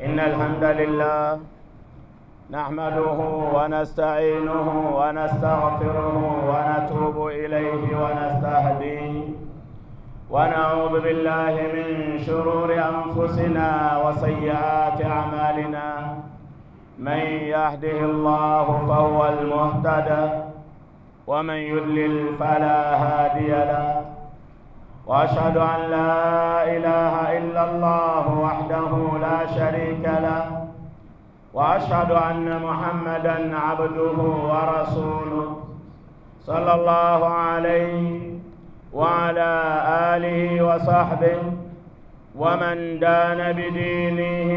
إن الحمد لله نحمده ونستعينه ونستغفره ونتوب إليه ونستهديه ونعوذ بالله من شرور أنفسنا وسيئات أعمالنا من يهده الله فهو المهتد ومن يضلل فلا هادي له واشهد ان لا اله الا الله وحده لا شريك له واشهد ان محمدا عبده ورسوله صلى الله عليه وعلى اله وصحبه ومن دان بدينه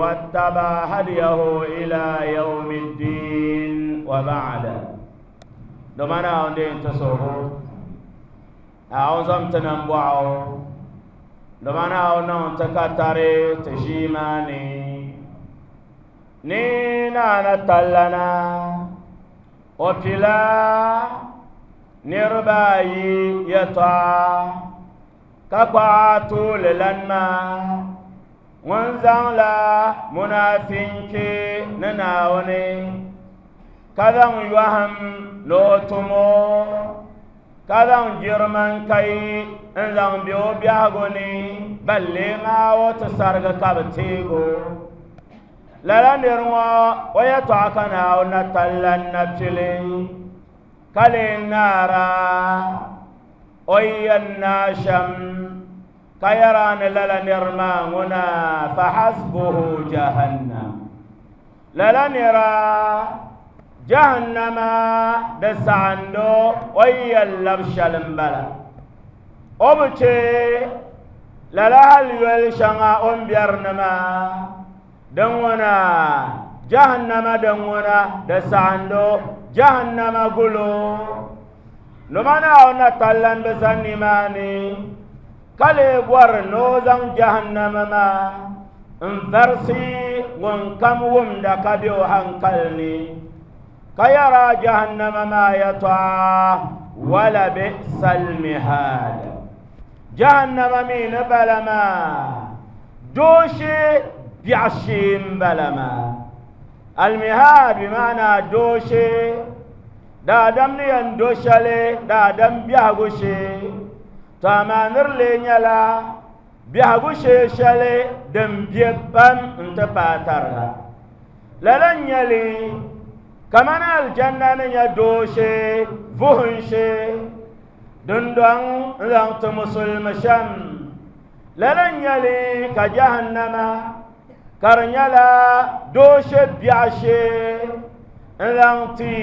واتبع هديه الى يوم الدين وبعد domana onde ntosoho awo zom ti nambɔɣu domana awo niŋ ti ka tari ti ʒiimaani ni naana tallana o pila niriba ayi yɛltɔɣa ka kpaɣa tuuli lan maa ŋun zaŋla munaafinchi ni Naawuni ka zaŋ yɔhim ni o tumo ka zaŋ jirimankai n zaŋ be o biɛhigu ni ban lee ŋaai o ti sarigi ka bi teegi o lala niri ŋɔ o yɛltɔɣa ka Naawuni na talla n-na pili ka lee naara o yi yɛn naai shɛm ka yɛra ni lala niri maa ŋuna fahasbuhu jahannam lala nira jahannama di saɣindo o yi yɛn labi shɛli m-bala o bi che lala hali yoli shɛŋa o ni bɛri ni maa din ŋuna jahannama din ŋuna di saɣindo jahannama gulo nima Naawuni na tallan bi zani nimaani ka lee bɔri ni o zaŋ jahannama maa n varisi ŋun kam wumda ka be o hankali ni ka yɛra jahannama maa yɛtɔɣa wala bi'sal mihaad jahannama mi ni bala maa dooshee biɛɣu shee n bala maa almihaad bi maana dooshee daadam ni yɛn do shɛli daadam biɛhigu shee to amaa niri lee nyɛla biɛhigu shee shɛli din bɛ pam n ti paai tariga lala n nyɛli kamani alijanna ni nyɛ dooshee vuhim shee dundɔŋ n zaŋ ti musulimi shɛm lala n nyɛli ka jahannama ka di nyɛla dooshee biɛɣu shee n zaŋ ti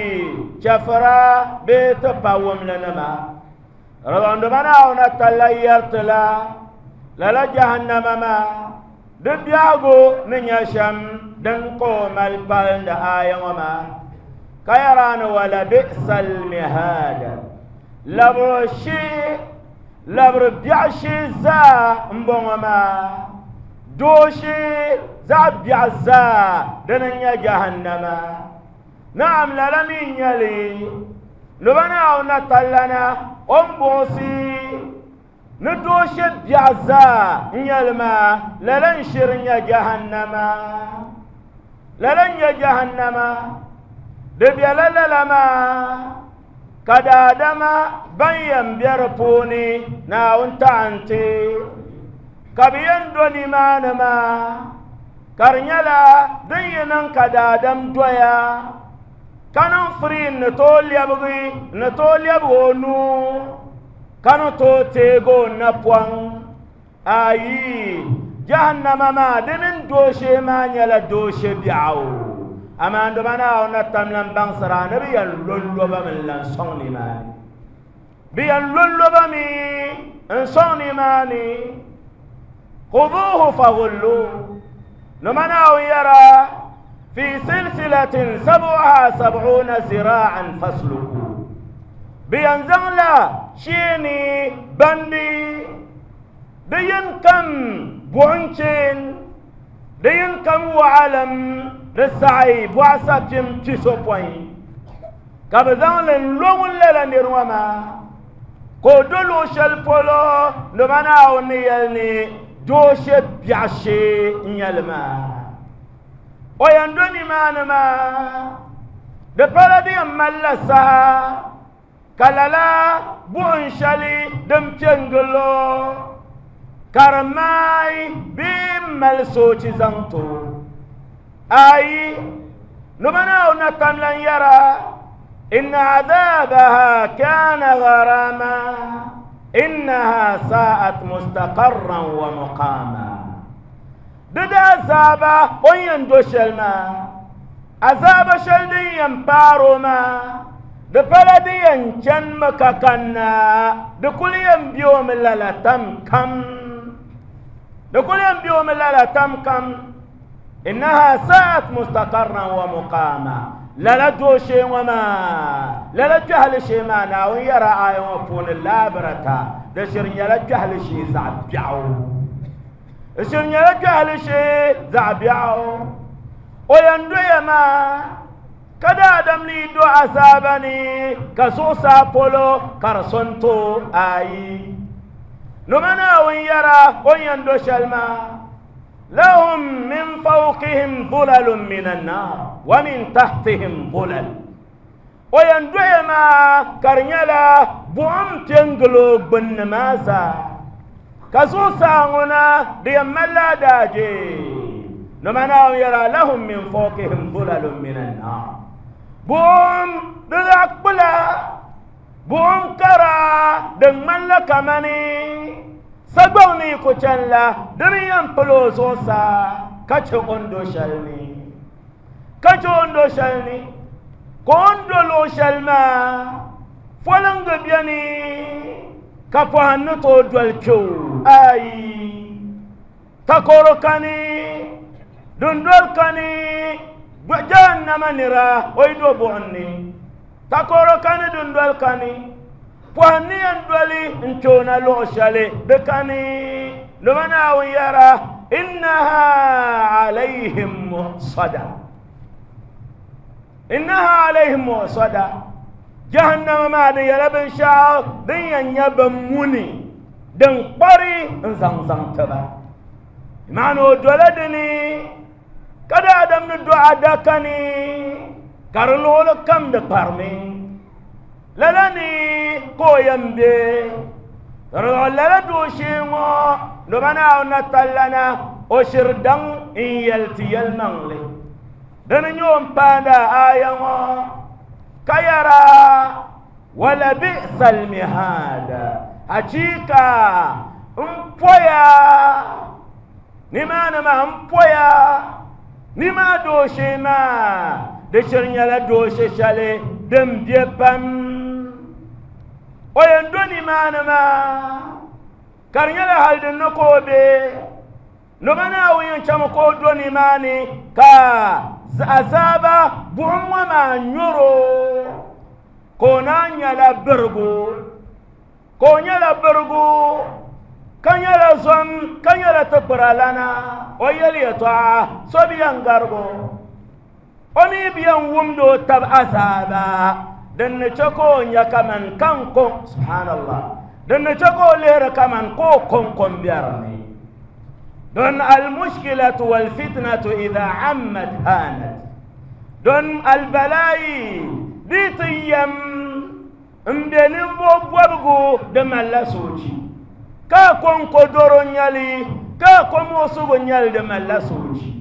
chɛfura bee ti pa wumli nima rɔbɔndoma Naawuni talla yɛri la lala jahannama maa di biɛhigu ni nyɛ shɛm din ka o mali palindi aya ŋɔ maa ka yɛra ni wala bi'sal mihaad labiri shee labiri biɛɣu shee zaa n bɔŋɔ maa dooshee zaɣ biɛɣu zaa dini n nyɛ jahannama naam lala mi n nyɛli loba Naawuni na tallana o ni buɣisi ni dooshɛ biɛɣu zaa n nyɛli maa lala n shiri nyɛ jahannama lala n nyɛ jahannama di bɛla lala maa ka daadama ban yɛn bɛ di puuni Naawuni taɣanti ka bi yɛn do nimaani maa ka di nyɛla din yi niŋ ka daadam doya ka niŋ firiin ni tooi lɛbigi ni tooi lɛbigi o nuu ka ni tooi teegi o napɔŋ ayi jahannama maa di mini dooshee maa nyɛla dooshee biɛɣu amaa doma Naawuni na tam lan baŋsira ni bi yɛn lolloba mi n-lan sɔŋ nimaani bi yɛn lolloba mi n sɔŋ nimaani khuduhu faghullu nima Naawuni yɛra fi silsilatin sab'uha sab'una zira'an fasluku bi yɛn zaŋla sheeni bandi di yin kam buɣum cheen di yin kam waɣalim di saɣi bɔɣu sapim pisopɔin ka bi zaŋ li n lo ŋun lala niri ŋɔ maa ka o do luɣu shɛli polo nima Naawuni ni yɛli ni dooshɛ biɛɣu shee n nyɛli maa. O yɛn do nimaani maa, di pala di yɛn malila saha ka lala buɣim shɛli din pe n-gili o ka di maai bee m-mali soochi zaŋ ti o. Ayi, nima Naawuni na tam lan yɛra, Inna adhabaha kana gharama, innaha sa'at mustaqarran wa muqama. Di daazaaba o ni yɛn do shɛli maa, azaaba shɛli din yɛn paari o maa, di pala di yɛn chanimi ka kanna, di kuli yɛn be o mi lala tam kam. Di kuli yɛn be o mi lala tam kam. Innaha sa'at mustaqarran wa muqama. Lala dooshee ŋɔ maa, lala kpɛhili shee maa, Naawuni yɛra aaya ŋɔ puuni laabirata, di shiri nyɛla kpɛhili shee zaɣ biɛɣu. Di shiri nyɛla kpɛhili shee zaɣ biɛɣu. O yɛn doya maa ka daadam ni yi do azaaba ni ka zuɣusaa polo ka di so n-ti o ayi. Noma Naawuni yɛra o ni yɛn do shɛli maa, lahum min fawqihim zulalun min annar wa min tahtihim zulal. O yɛn doya maa ka di nyɛla buɣim pe n-gili o gbunni maa zaa. Ka zuɣusaa ŋɔ na di yɛn malila adaaje. Noma Naawuni yɛra lahum min fawqihim zulalun min annar. Buɣim di zaɣ kpula, buɣim kara din ŋmanila kamani sagbaŋ ni yi ku chani la, di ni yɛn pili o zuɣusaa ka chɛ o ni do shɛli ni. Ka chɛ o ni do shɛli ni, ka o ni do luɣ shɛli maa foliŋgi beni ka pɔhim ni tooi doli kpe o. Ayi, takɔro kani, dundoli kani, jahannama nira o yi do buɣim ni. Takɔro kani, dundoli kani, pɔhim ni yɛn doli n-kpe o na luɣ shɛli di kani. Dama Naawuni yɛra, Innaha alayhim mu'sada. Innaha alayhim mu'sada. Jahannama maa di nyɛla binshɛɣu din yɛn nyɛ bin muni din kpari n-zaŋ zaŋ ti ba. Maana o dola dini ka daadam ni do adaka ni ka di luɣuli kam di kparimi. Lala ni ka o yɛn be. Lala dooshee ŋɔ noma Naawuni na tallana o shiri daŋ n-yɛli ti yɛlimaŋli. Dini n-nyɛ o ni paandi a aaya ŋɔ ka yɛra, Walabi'sal mihaad, achiika m poya nimaani maa m poya nimaa dooshee maa di shiri nyɛla dooshe shɛli din be pam. O yɛn do nimaani maa ka di nyɛla hali din ni ka o be. Noma Naawuni yɛn chami ka o do nimaani ka azaaba buɣim ŋɔ maa nyɔr o ka o naan nyɛla birigu, ka o nyɛla birigu ka nyɛla zom ka nyɛla tikpiralana. O yɛli yɛtɔɣa so bi yɛn garig o. O mi bi yɛn wumdi o tab azaaba din ni chɛ ka o nya kaman ka n ko, subhanallah, din ni chɛ ka o lihiri kaman ka o kɔŋko m-biɛri ni. Don almushkilatu walfitnatu idha ammat hanat. Don albalaayi di ti yɛm m-be ninvuɣ bɔbigu di malila soochi, ka kɔŋko dɔro n-nyɛ li, ka kɔmuɣisigu n-nyɛ li di malila soochi.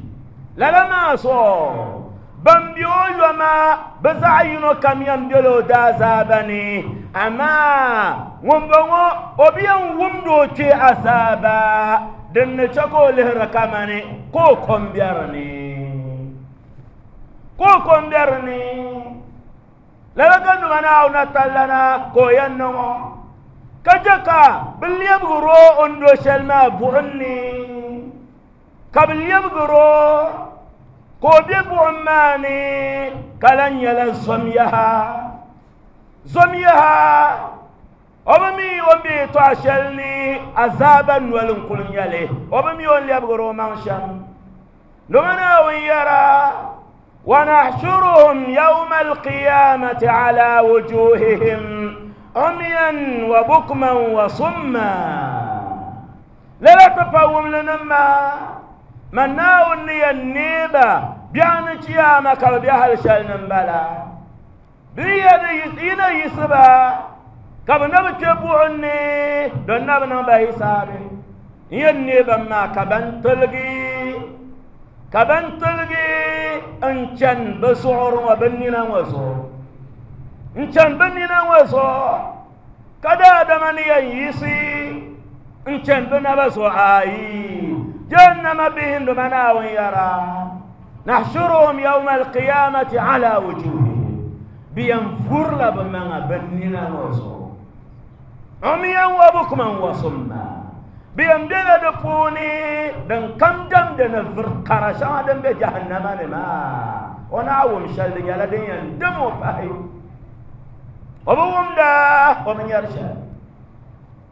Lala maa zuɣu, ban be o yoma bɛ zaɣ yino kam yɛn bela o daazaaba ni, amaa ŋumbɔŋɔ o bi yɛn wumdi o kpee azaaba din ni chɛ ka o lihiri kamani ka o kɔŋ be di ni. Ka o kɔŋ be di ni. Lala ka numa Naawuni tallana ka o yɛn niŋ o, ka chɛ ka bɛ lɛbigir o o ni do shɛli maa buɣim ni, ka bɛ lɛbigir o ka o be buɣim maa ni, ka lan nyɛla zom yaha. Zom yaha, o bi mi o ni be yɛtɔɣ shɛli ni azaaba noli n-kul nyɛ li, o bi mi o ni lɛbigir o maŋ shɛm. Numa Naawuni yɛra, ونحشرهم يوم القيامة على وجوههم عميا وبكما وصما. Lala ti pa wumli nim maa, man Naawuni ni yɛn neei ba ba biɛɣuni chiyaama ka bi bɛ hali shɛli ni n bala bɛ yi na yiɣisi ba ka bi na bi kpɛ buɣum ni don na bi niŋ ba hisaabi n yɛn neei ban maa ka ban tiligi ka ban tiligi n chani bi zuɣuri ŋɔ bi nina ŋɔ zuɣu n chani bi nina ŋɔ zuɣu ka daadama ni yɛn yiɣisi n chani bi naba zuɣu ayi jahannama bihi nduma naawuni yɛra nahshuruhum yawma alqiyamati ala wujuhihim bi yɛn vurila bi maŋa bi nina ŋɔ zuɣu umiyan wa bukman wa summa bi yɛn bela di puuni din kam damdi ni vuri kara shɛŋa din be jahannama ni maa o naa wum shɛli di nyɛla din yɛn dim o pahi o bi wumda o bi nyɛri shɛli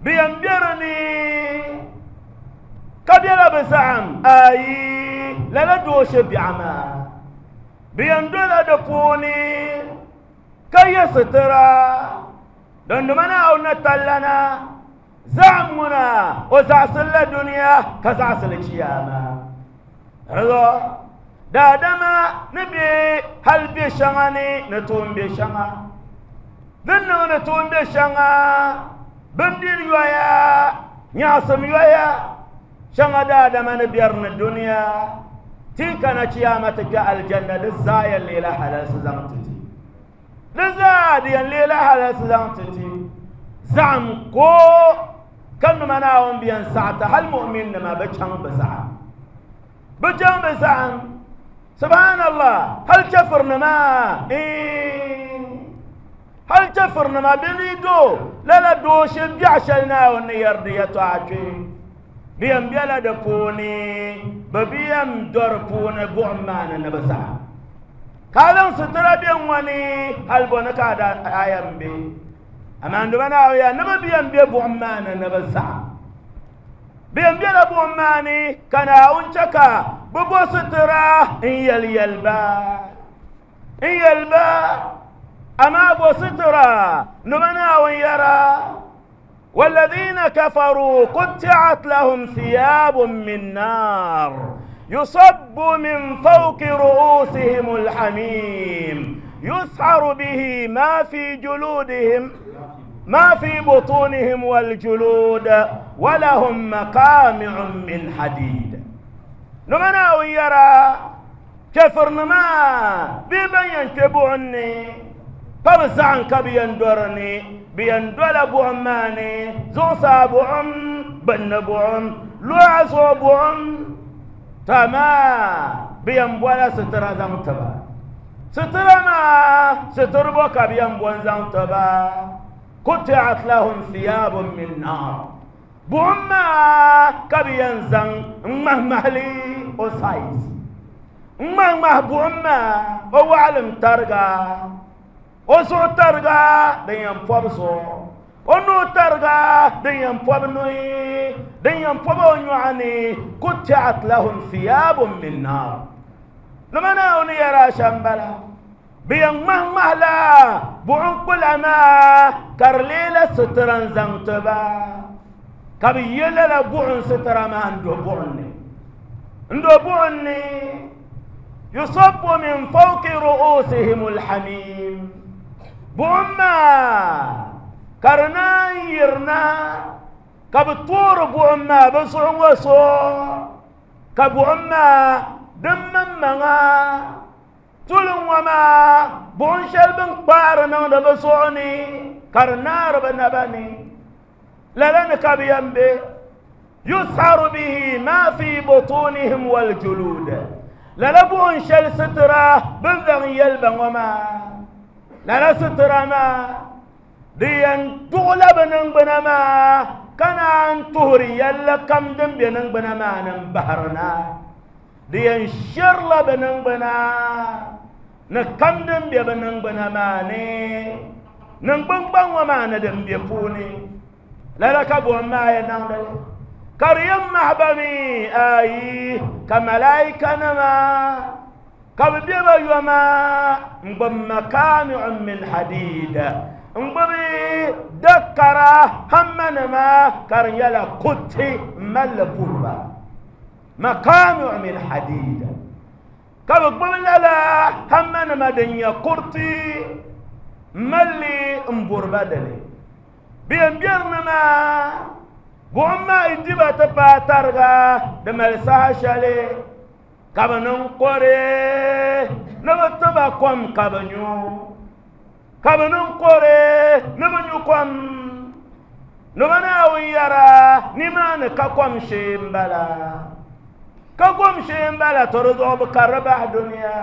bi yɛn be di ni ka bela bi zaɣim ayi lala dooshe biɛɣu maa bi yɛn dola di puuni ka ye sitira dondoma Naawuni na tallana zaɣim ŋuna o zaɣisili la duniya ka zaɣisili chiyaama rizo daadama ni be hali be shɛŋa ni ni tuun be shɛŋa din niŋ ni tuun be shɛŋa bindiri yoya nyaɣasim yoya shɛŋa daadama ni bɛri ni duniya ti kana chiyaama ti kpɛ aljanna di zaa yɛn leela halalsi zaŋ ti ti di zaa di yɛn leela halalsi zaŋ ti ti zaɣim ko ka nima Naawuni bi yɛn saɣita hali mu'min nima bi chaŋ bi zaɣim bi chaŋ bi zaɣim subhanallah hali chɛfiri nima hali chɛfiri nima bi ni do lala dooshɛ biɛɣu shɛli Naawuni ni yɛri di yɛtɔɣa kpee bi yɛn bela di puuni bi bi yɛn do di puuni buɣum maa ni ni bi zaɣim ka a zaŋ sitira bɛ ŋɔ ni hali bo ni ka a yɛn be amaa nduma Naawuni yaa ni bi bi yɛn be buɣum maa ni ni bi zaɣim bi yɛn bela buɣum maa ni ka Naawuni chɛ ka bi bo sitira n yɛli yɛli ba n yɛli ba amaa bo sitira nduma Naawuni yɛra والذين كفروا قطعت لهم ثياب من نار يصب من فوق رؤوسهم الحميم يسعر به ما في جلودهم ما في بطونهم والجلود ولهم مقامع من حديد نمنا ويرى كفر نما ببين كبعني فبزعن كبين درني بين دولا بوعماني زوسا بوعم بن بوعم لوعزو بوعم تما بين بولا سترا زمتبا سترا ما ستر بوكا بين بوان زمتبا قطعت لهم ثياب من نار بوعما كبين زن مهمهلي وسايز مهمه بوعما هو علم ترقى o zuɣu tariga din yɛn pɔbi zuɣu o nuu tariga din yɛn pɔbi nuhi din yɛn pɔbi o nyɔɣu ni kutiat lahum thiyabun min naar nima Naawuni yɛra shɛm bala bi yɛn ŋmahi ŋmahila buɣum kpula maa ka di leela sitira n zaŋ ti ba ka bi ye lala buɣum sitira maa n do buɣum ni n do buɣum ni yusabbu min fawqi ru'usihim alhamim buɣum maa ka di naan yirina ka bi toori buɣum maa bi zuɣu ŋɔ so ka buɣum maa din maŋmaŋa tuli ŋɔ maa buɣum shɛli bin kpaari niŋdi bi zuɣu ni ka di naari bi naba ni lala ni ka bi yɛn be yusharu bihi ma fi butunihim waljulud lala buɣum shɛli sitira bin zaŋ yɛli ba ŋɔ maa lala sitira maa di yɛn tuɣula bi niŋgbuna maa ka naan tuhuri yɛlli kam din be niŋgbuna maa ni n bahiri na di yɛn shɛrila bi niŋgbuna ni kam din be bi niŋgbuna maa ni niŋgbun gbaŋ ŋɔ maa ni din be puuni lala ka buɣum maa yɛn niŋdi li ka di yɛn mahi ba mi ayi ka malaika nima ka bi be ba yoma n gbubi makami'un min hadid n gbubi dakara hamma nima ka di nyɛla kuriti n malli puriba makami'u min hadid Ka bɛ gbubi lala hammanima din nyɛ kuriti m-mali li m-buri ba dini. Bɛ yɛn beri ni maa, buɣim maa yi di ba ti paai tariga, di mali saha shɛli ka bɛ niŋ kɔre ni bɛ ti ba kom ka bɛ nyu. Ka bɛ niŋ kɔre ni bɛ nyu kom. Ni bɛ Naawuni yɛra, Nimaani ka kom shee m-bala. Ka kom shee m-bala, to di zuɣu bɛ karili bahi dunia.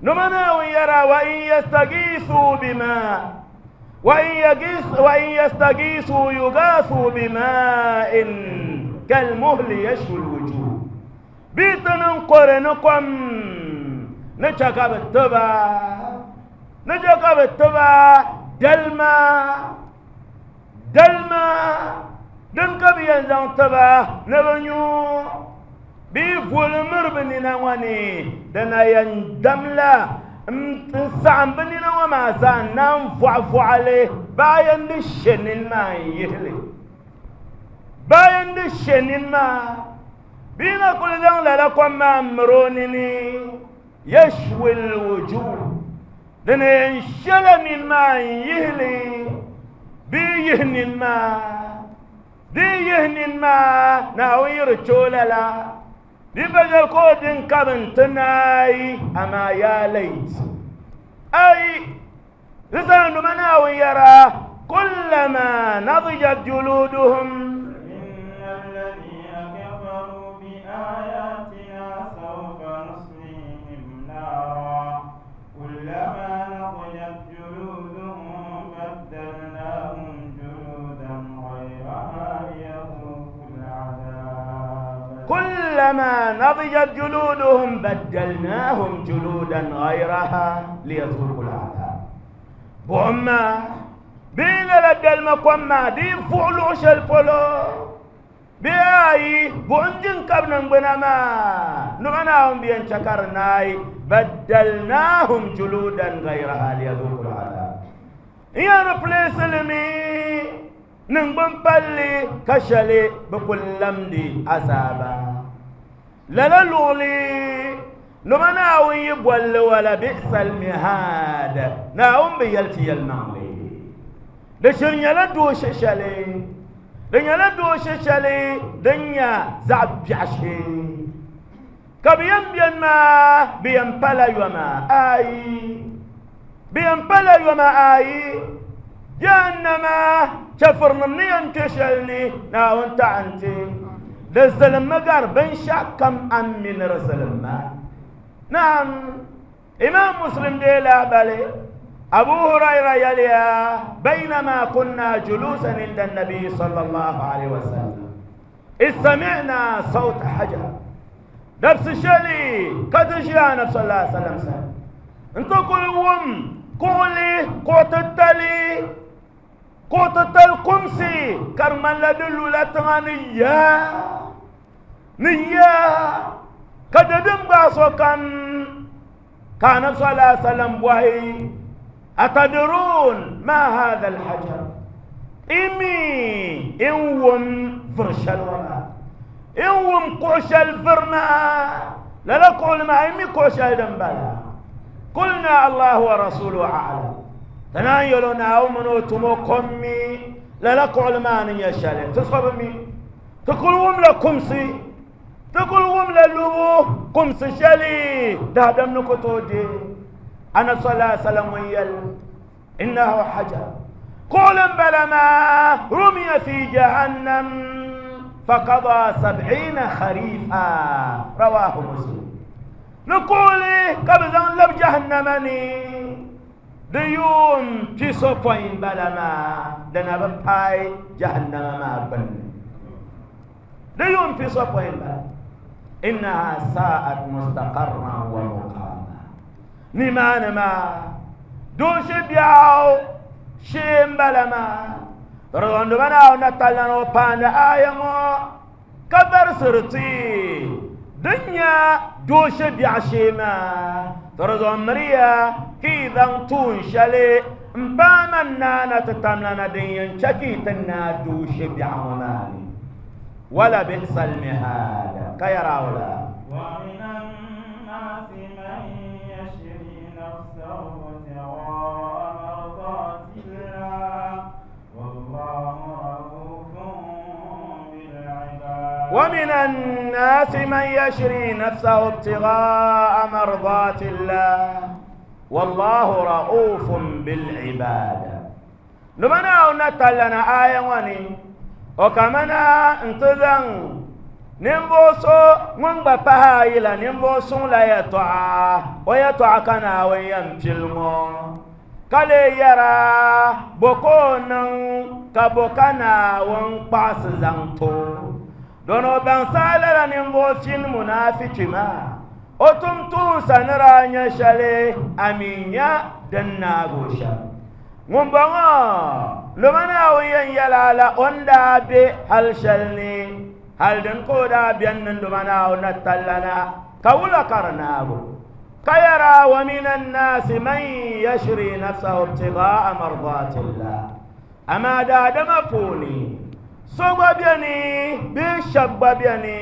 Ni bɛ Naawuni yɛra, wa in yastagiisu bima wa in yagis wa in yastagiisu yugaasu bima'in kalmuhli yashwi lwujuh. Bɛ yi ti niŋ kɔre ni kom ni chɛ ka bɛ ti ba ni chɛ ka bɛ ti ba dalima dalima din ka bɛ yɛn zaŋ ti ba ni bɛ nyu bɛ yi voli miri bɛ nina ŋɔ ni di na yɛn damla n saɣim bɛ nina ŋɔ maa zaa n naan vɔɣivɔɣi li baa yɛn di she nini maa n yihi li baa yɛn di she nini maa bɛ yi na kuli zaŋ lala kom maa m miri o nini yashwi lwujuh di ni yɛn shɛla nini maa n yihi li bee yihi nini maa di yihi nini maa Naawuni yi di chɛ o lala di pa shɛli ka o din ka bi n ti naai amaa yaa lait ai di saha numa Naawuni yɛra kullama nadijat juluduhum إن الذين كفروا بآياتنا سوف نصليهم نارا كلما نضجت جلودهم بدلناهم جلودا غيرها ليذوقوا العذاب كلما نضجت جلودهم بدلناهم جلودا غيرها ليذوقوا العذاب buɣim maa bee lala dalima kom maa di fuɣi luɣu shɛli polo bee ayi buɣim din ka bi niŋgbuna maa nima Naawuni bi yɛn chɛ ka di naai baddalnahum juludan gayraha liyadhuqu al'adab n yɛn replace li mi niŋgbun palli ka shɛli bi kuli lamdi azaaba lala luɣuli nima Naawuni yi bolli wala bi'sal mihaad Naawuni bi yɛli ti yɛlimaŋli di shiri nyɛla dooshɛ shɛli di nyɛla dooshɛ shɛli din nyɛ zaɣ biɛɣu shee ka bɛ yɛn beni maa bɛ yɛn pala yoma ayi bɛ yɛn pala yoma ayi jahannama chɛfurinim ni yɛn kpe shɛli ni Naawuni taɣi n-ti di zilimmi gari binshɛɣu kam a ni mi ni di zilimma naam imam muslim dee lahabali abu hurayra yɛliya baynama kunna julusan inda nabi sallallahu alaihi wasallam إذ سمعنا صوت حجر dabsi shɛli ka ti ʒiya anabi sallallahu alaihi wasallam sani n ti kuli wum kuɣuli kuɣu titali kuɣu titali kumsi ka di ŋmanila di lula tiŋa ni yaa ni yaa ka dabiɛm gbaai sokam ka anabi sallallahu alaihi wasallam bɔhi atadrun ma hadha alhajar imi in wum vuri shɛli ŋɔ maa in wum kuɣu shɛli vuri maa lala kuɣuli maa imi kuɣu shɛli din bala kulna allahu wa rasuluhu a'lam ti naan yɛl o Naawuni mini o tumo kom mi lala kuɣuli maa ni nyɛ shɛli ti so bi mi ti kuli wumla kumsi ti kuli wumla lubu kumsi shɛli daadam ni ku tooi deei anabi sallallahu alaihi wasallam ŋun yɛli innahu hajar kuɣuli n bala maa rumiya fi jahannam faqada sab'ina kharifa rawahu muslim ni kuɣuli ka bi zaŋ labi jahannama ni di yuun pisopɔin bala maa di na bi paai jahannama maa gbunni di yuun pisopɔin bala innaha sa'at mustaqarran wa muqama nimaani maa dooshɛ biɛɣu shee n bala maa rɔndiba Naawuni na talana o paandi aya ŋɔ ka varisiri ti din nyɛ dooshɛ biɛɣu shee maa tɔrɔzɔn miriya ka yi zaŋ tuun shɛli n paai man naana ti tamlana din yɛn chɛ ka yi ti naai dooshɛ biɛɣu ŋɔ maa ni wala bi'sal mihaad ka yɛra wula ومن الناس نفسه ابتغاء مرضات الله والله رؤوف بالعباد. ومن الناس من يشري نفسه ابتغاء مرضات الله والله رؤوف بالعباد. نمنا نتلنا آية وني وكمنا انتظن نمبوسو من بها إلى نمبوسو لا يطاع ويطاع كان ويمتلمو قال يرى بكون كبكنا ونقاس زنتو دونو بانسال نمبوسين منافق ما أتمتو سنرى نشالي أمينيا دناغوشا ŋumbɔŋɔ lumana o yɛn yɛla la o ni daa be hali shɛli ni hali din ka o daa bɛni ni lumana o na tallana ka wula ka di naabu ka yɛra wa min annaasi man yashri nafsahu ibtigaa mardatillah. Amaa daadama puuni so gba bɛni bee shɛba gba bɛni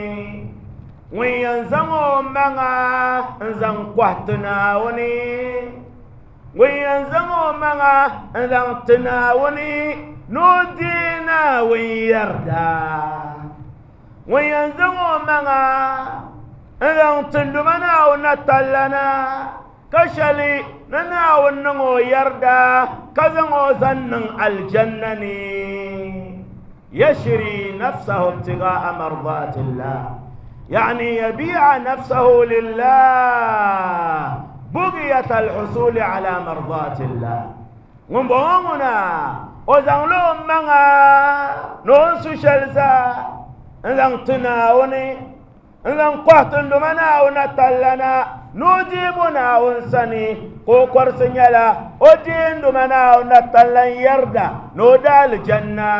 ŋun yɛn zaŋ o maŋa n zaŋ kɔhi ti Naawuni ŋun yɛn zaŋ o maŋa n zaŋ ti Naawuni ni o deei Naawuni yarda ŋun yɛn zaŋ o maŋa n zaŋ ti luma Naawuni na tallana ka shɛli ni Naawuni niŋ o yarda ka zaŋ o zaŋ niŋ aljanna ni yashri nafsahu ibtigaa mardatillah يعني يبيع نفسه لله بغية الحصول على مرضات الله. ŋumbɔŋɔ o zaŋ lo maŋa ni o su shɛli zaa n zaŋ ti Naawuni n zaŋ kɔhi ti luma Naawuni na tallana ni o deebo Naawuni sani ka o kɔrisi nyɛla o deei luma Naawuni na tallan yarda ni o da alijanna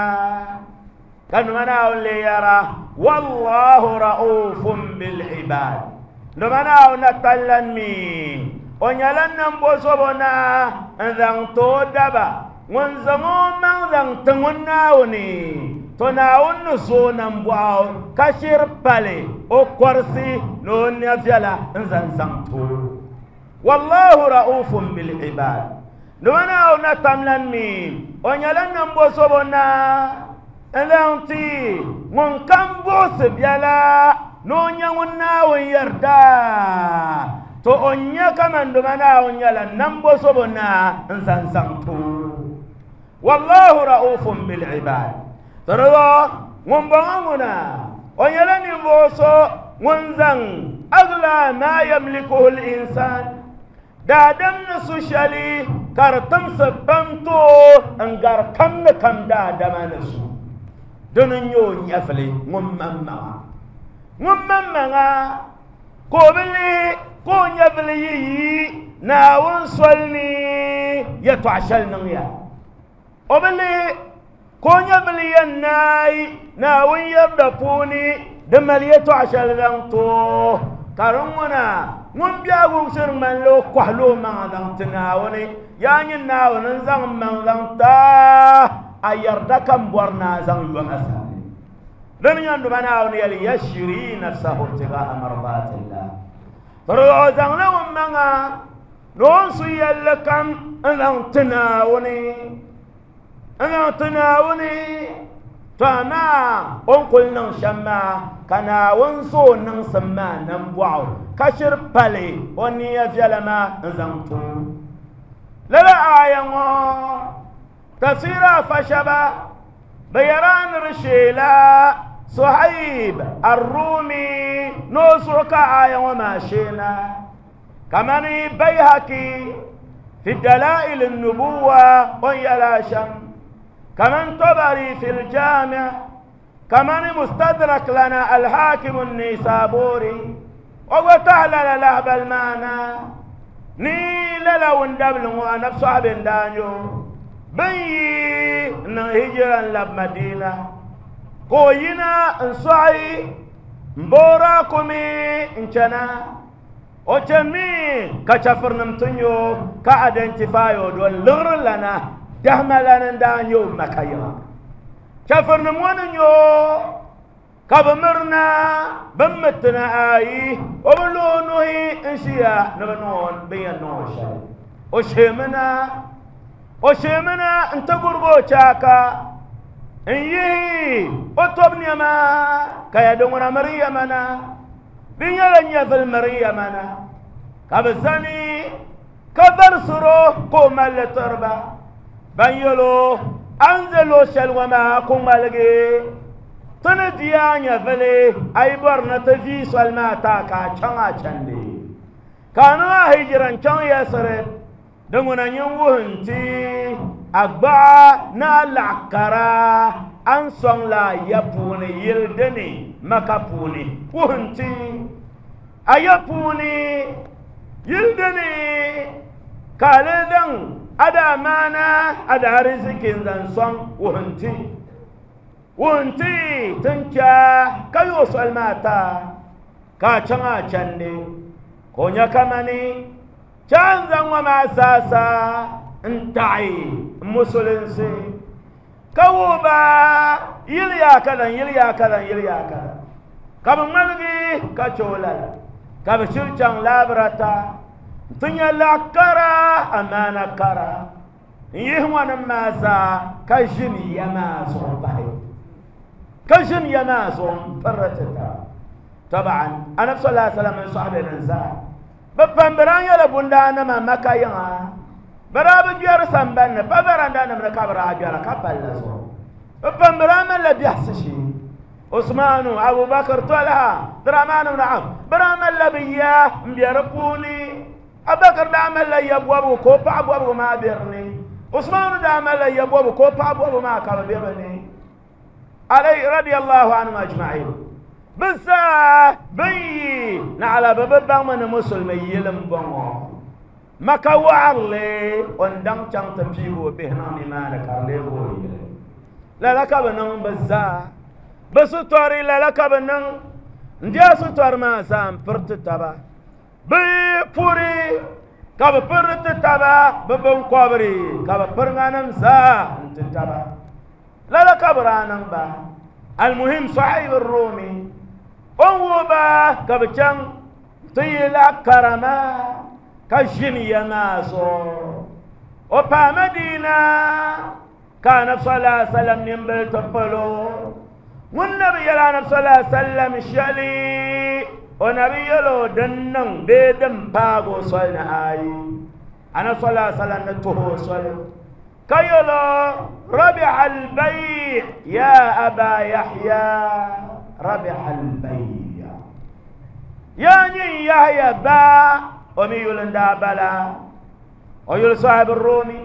ka luma Naawuni lee yɛra wallahu ra'ufun bil ibad. Luma Naawuni na tallan mi o nyɛla nambo zobo na n zaŋ ti o daba ŋun zaŋ o maŋ zaŋ ti ŋun Naawuni to Naawuni ni zooi nambɔɣu ka shiri pali o kɔrisi ni o nya viɛla n zaŋ zaŋ ti o. Wallahu ra'ufun bil ibad. Luma Naawuni na tamlan mi o nyɛla nambo zobo na n zaŋ ti ŋun kam buɣisi biɛla ni o nya ŋun Naawuni yarda to o nya kaman luma Naawuni nyɛla nambo zobo na n zaŋ zaŋ ti o. Wallahu ra'ufun bil ibad. Tɔrɔ ŋun bɔŋɔ ŋuna o nyɛla ninvuɣu so ŋun zaŋ agla ma yamlikuhu l-insan daadam ni su shɛli ka di timsi pam ti o n gari kam ni kam daadama ni su dini n nyɛ o nyɛvili ŋun maŋmaŋa ŋun maŋmaŋa ka o bi lihi ka o nyɛvili yi yi Naawuni soli ni yɛltɔɣa shɛli niŋya o bi lihi ka o nyɛvili yɛn naai Naawuni yarda puuni di mali yɛltɔɣa shɛli zaŋ ti o ka di ŋuna ŋun biɛhigu shiri ŋmanila o kɔhila o maŋa zaŋ ti Naawuni yaa nyin Naawuni n zaŋ n maŋ zaŋ ti a yarda ka n bɔri ni a zaŋ yɔma sani dini nyɛ luma Naawuni yɛli yashri nafsahu ibtigaa mardatillah. Tɔrɔ o zaŋla ŋun maŋa ni o ni su yɛlli kam n zaŋ ti Naawuni n zaŋ ti Naawuni to amaa o ni kuli niŋ shɛm maa ka Naawuni zo o niŋsim maa nambɔɣu ka shiri pali o niya viɛla maa n zaŋ ti o. Lala aaya ŋɔ tafsira afa shɛba bɛ yɛra ni di sheela Suhaib Arrumi ni o zuɣu ka aaya ŋɔ maa sheena kamani Bayhaqi fi dalail an-nubuwa o ni yɛla shɛm kaman Tabari fi al-Jami' kamani Mustadrak lana al-Hakim an-Nisaburi o gba tahi lala lahibali maa na ni lala wundabili ŋɔ anabi sɔhibi n daa nyɛ o bin yi n niŋ hijira n labi Madina ka o yina n sɔɣi n boora kumi n chana o chani mi ka chɛfurinim ti nyɛ o ka identify o don liɣiri lana dahima lana n daa nyɛ o Maka yiŋa chɛfurinim ŋɔ ni nyɛ o ka bi mirina bin mi tina ayi o bi lo o nuhi n ʒiya ni bi niŋ o bin yɛn niŋ o shɛli. O shemina n ti gurigi o chaaka n yihi o tob nɛma ka ya di ŋuna miri yamana di nyɛla nyɛvili miri yamana ka bi zani ka varisiro ka o malli tiriba ban yɛlo a ni ʒɛ luɣu shɛli ŋɔ maa ku ŋmaligi ti ni di a nyɛvili a yi bɔri ni ti vii soli maa taa ka a chaŋ a chandi ka a niŋ a hijira n chaŋ Yasirib di ŋuna nyin wuhi n-ti a gbaɣa ni a laɣa kara a ni sɔŋ la a ya puuni yili dini Maka puuni wuhi n-ti a ya puuni yili dini ka a lee zaŋ a daa maana a daa riziki n zaŋ sɔŋ wuhi n-ti wuhi n-ti tin cha ka yooi soli maa taa ka a chaŋ a chandi ka o nya kamani chan zaŋ ŋɔ maa zaasa n taɣi musulinsi ka wuhi ba yili yaa kadan yili yaa kadan yili yaa kadan ka bi ŋmaligi ka che o lala ka bi shiri chaŋ laabirata n ti nya laɣa kara amaana kara n yihi ŋɔnim maa zaa ka ʒini ya maa zuɣu pahi ka ʒini ya maa zuɣu n pirri ti taba taban anabi sallallahu alaihi wasallam n sɔhibe nin zaa bi pam bi daa nyɛla bundaanima Maka yiŋa bi daa bi gbɛri sambanni pa varandanima ni ka bi daa gbɛra ka palli zuɣu bi pam bi daa malila biɛhisi shee Usmanu Abubakar Talha Dramani ibn Auf bi daa malila bi ya n bɛ di puuni Abubakar daa malila ya bɔbigu ka o paɣa bɔbigu maa bɛ dinni Usmanu daa malila ya bɔbigu ka o paɣa bɔbigu maa ka bi bɛ bi ni alayhi radiyallahu anhum ajma'in bi zaa bin yi naɣala bi bi baŋmi ni musulmi yili n bɔŋɔ Maka waɣarili o ni daŋ chaŋ ti piigi o bihi niŋ nimaani ka di leegi o yili lala ka bi niŋ bi zaa bi sitɔri lala ka bi niŋ n diya sitɔri maa zaa n piri ti taba bi puri ka bi piri ti taba bi binkɔbiri ka bi piri ŋanim zaa n ti taba lala ka bi daa niŋ ba almuhim Suhaib Rumi o ni wuhi ba ka bi chaŋ ti yi laɣa karama ka ʒini ya maa zuɣu o paai Madina ka anabi sallallahu alaihi wasallam nimbili ti palo ŋun nabi yɛli anabi sallallahu alaihi wasallam shɛli o nabi yɛli o din niŋ bee din paagi o soli ni ayi anabi sallallahu alaihi wasallam ni tuhi o soli ka yɛli rabiha albay ya aba Yahya rabiha albay ya nyin Yahya ba o mi yuli n daa bala o yuli Sahibi Rumi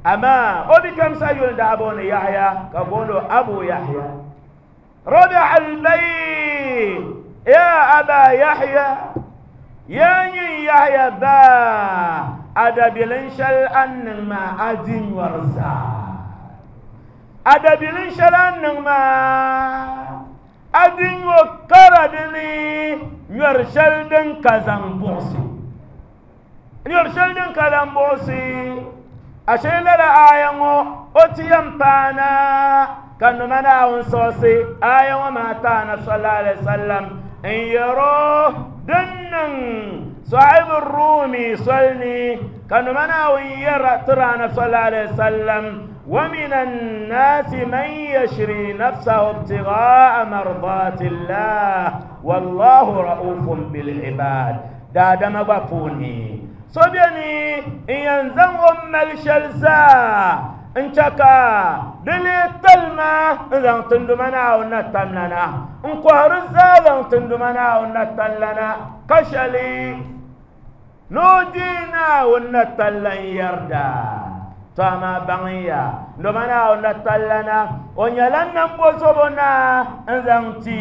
amma o bi kamsa yuli daa booni Yahya ka booni Abu Yahya rabiha albay ya aba Yahya ya nyin Yahya ba adabilin shɛli an niŋ maa a di nyɔri zaa adabilin shɛli an niŋ maa a di nyɔ kara dini nyɔri shɛli din ka zaŋ buɣisi nyɔri shɛli din ka zaŋ buɣisi ashe lala aya ŋɔ o ti yɛn paana ka numa Naawuni siɣisi aya ŋɔ maa ti anabi sallallahu alaihi wasallam n yɛro din niŋ Suhaib Rumi soli ni ka numa Naawuni yɛra tiri anabi sallallahu alaihi wasallam ومن الناس من يشري نفسه ابتغاء مرضات الله والله رؤوف بالعباد daadama gba puuni so beni n yɛn zaŋ o mali shɛli zaa n chɛ ka di lee talima n zaŋ tinduma Naawuni na tamlana n kɔhiri zaa zaŋ tinduma Naawuni na tamlana ka shɛli ni o deei Naawuni na talla n yɛrida to amaa baŋya nduma Naawuni na tallana o nyɛla nambo zobo na n zaŋ ti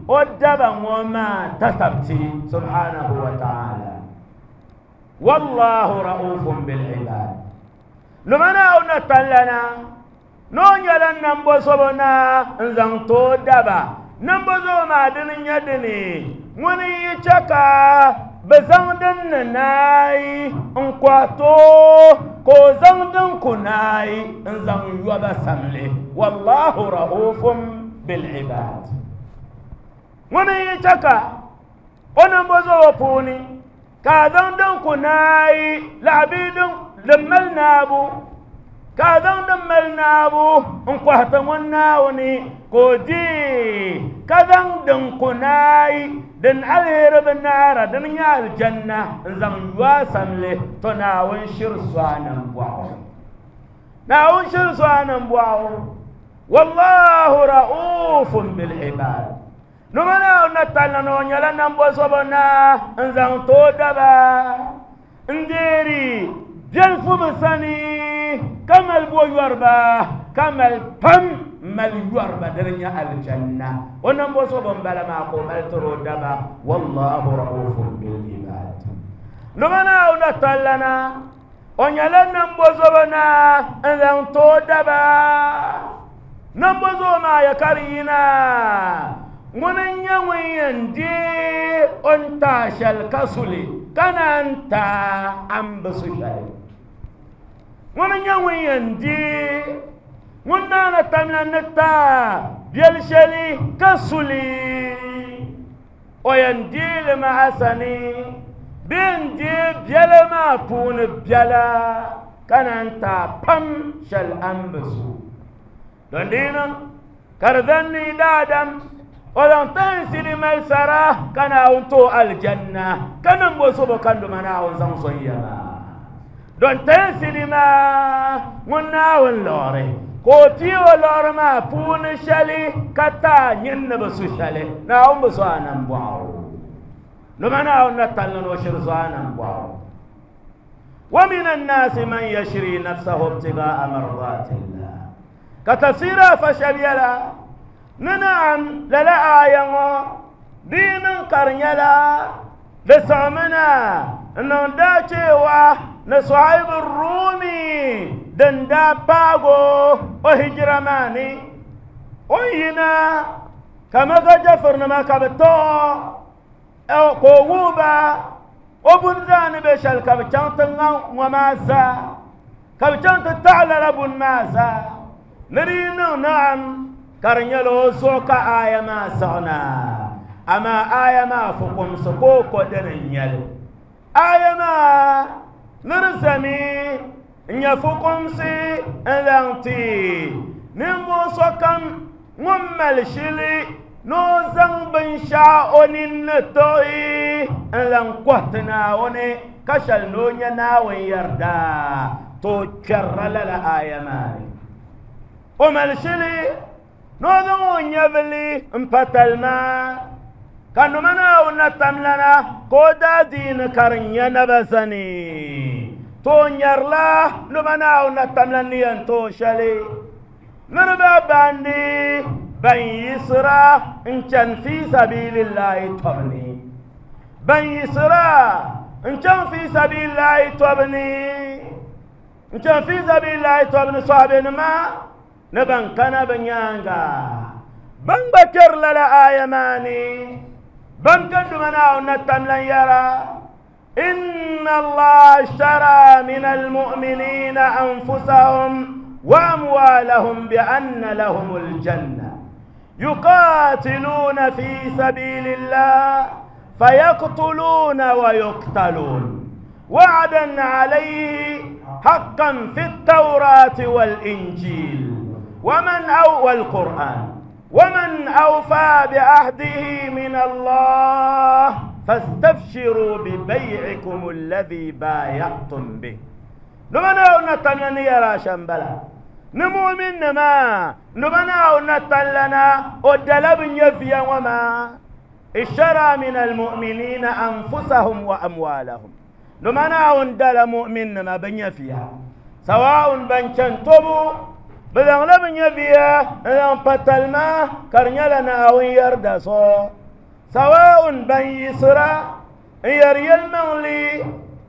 o daba ŋɔ maa tatabti subhanahu wa ta'ala wallahu ra'ufun bil ibad nduma Naawuni na tallana ni o nyɛla nambo zobo na n zaŋ ti o daba nambo zobo maa dini nyɛ dini ŋuni yi chɛ ka bi zaŋ din ni naai n kɔhi to ka o zaŋ din ku naai n zaŋ yɔba samli wallahu ra'ufun bil ibad ŋuni yi chɛ ka o nambo zobo puuni Ka zaŋ din ku naai laɣabi din mali naabu ka zaŋ din mali naabu n kɔhi ti ŋun Naawuni ka o deei ka zaŋ din ku naai din aliheri bi naara din nyɛ aljanna n zaŋ yo a samli to Naawuni shiri so a nambɔɣu. Naawuni shiri so a nambɔɣu. Wallahu ra'ufun bil ibad. Numa Naawuni na talli ni o nyɛla nambɔzɔbo naa n zaŋ ti o daba n deeri biɛlifu bi sani ka mali bo yɔriba ka mali pam mali yɔriba dini nyɛ alijanna o nambɔzɔbo n bala maa ka o mali tiri o daba wallahu ra'ufun bil ibad. Numa Naawuni na talli na o nyɛla nambɔzɔbo naa n zaŋ ti o daba nambɔzɔbo maa ya ka di yina ŋuni n nyɛ ŋun yɛn deei o ni taai shɛli ka suli ka naan taai a ni bi su shɛli ŋuni n nyɛ ŋun yɛn deei ŋun naana tamla ni taai biɛli shɛli ka suli o yɛn deei li maa a sani bee n deei biɛla maa puuni biɛla ka naan taai pam shɛli a ni bi su don di niŋ ka di zani ni daadam o zaŋ tansili mali sara ka Naawuni ti o alijanna ka niŋ bo sobo ka nduma Naawuni zaŋ zɔn ya maa don tansili maa ŋun Naawuni liɣiri ka o pii o liɣiri maa puuni shɛli ka taai nyin ni bi su shɛli Naawuni bi so a nambɔɣu nduma Naawuni na talli ni o shiri so a nambɔɣu. ومن الناس من يشري نفسه ابتغاء مرضات الله كتفسير فشبيلا ننعم للا آية دين قرنيلا لسعمنا إنه داتي نصعيب الرومي دندا باغو وهجرماني وينا كما جفرنا ما كبتو أو قووبا o buni zaa ni be shɛli ka bi chaŋ ti ŋa ŋɔ maa zaa ka bi chaŋ ti taɣi lala buni maa zaa ni di yi niŋ naam ka di nyɛla o zuɣu ka aaya maa siɣina amaa aaya maa fukumsi ka o ko dini n nyɛli aaya maa ni di zami n nyɛ fukumsi n zaŋ ti ninvuɣu sokam ŋun mali shili ni o zaŋ binshɛɣu o nini ni tiɣi n zaŋ kɔhi ti Naawuni ka shɛli ni o nyɛ Naawuni yarida to o kpɛrila lala aaya maa ni o mali shili ni o zaŋ o nyɛvili n pa talima ka numa Naawuni na tamlana ka o daa diini ka di nyɛ naba zani to o nyɛrila numa Naawuni na tamlana ni yɛn ti o shɛli niriba bandi ban yisira n chani fi sabilillahi tɔbu ni ban yisira n chaŋ fi sabilillahi tɔbu ni n chaŋ fi sabilillahi tɔbu ni sɔhibenima ni ban kana bɛ nyaaŋa ban gba kpɛri lala aaya maa ni ban ka duma Naawuni na tamlan yɛra إن الله اشترى من المؤمنين أنفسهم وأموالهم بأن لهم الجنة يقاتلون في سبيل الله فيقتلون ويقتلون وعدا عليه حقا في التوراة والإنجيل ومن أو والقرآن ومن أوفى بعهده من الله فاستبشروا ببيعكم الذي بايعتم به. نمنا نتلنا يا راشن بلا نمؤمن ما نمنا نتلنا ودلب يفيا وما اشترى من المؤمنين أنفسهم وأموالهم. نمنا ندل مؤمن ما بن فيها سواء بن تبو بدن لبن يفيا لن بتلما كرنيلنا أو يردسو سواء بن يسرا يري المغلي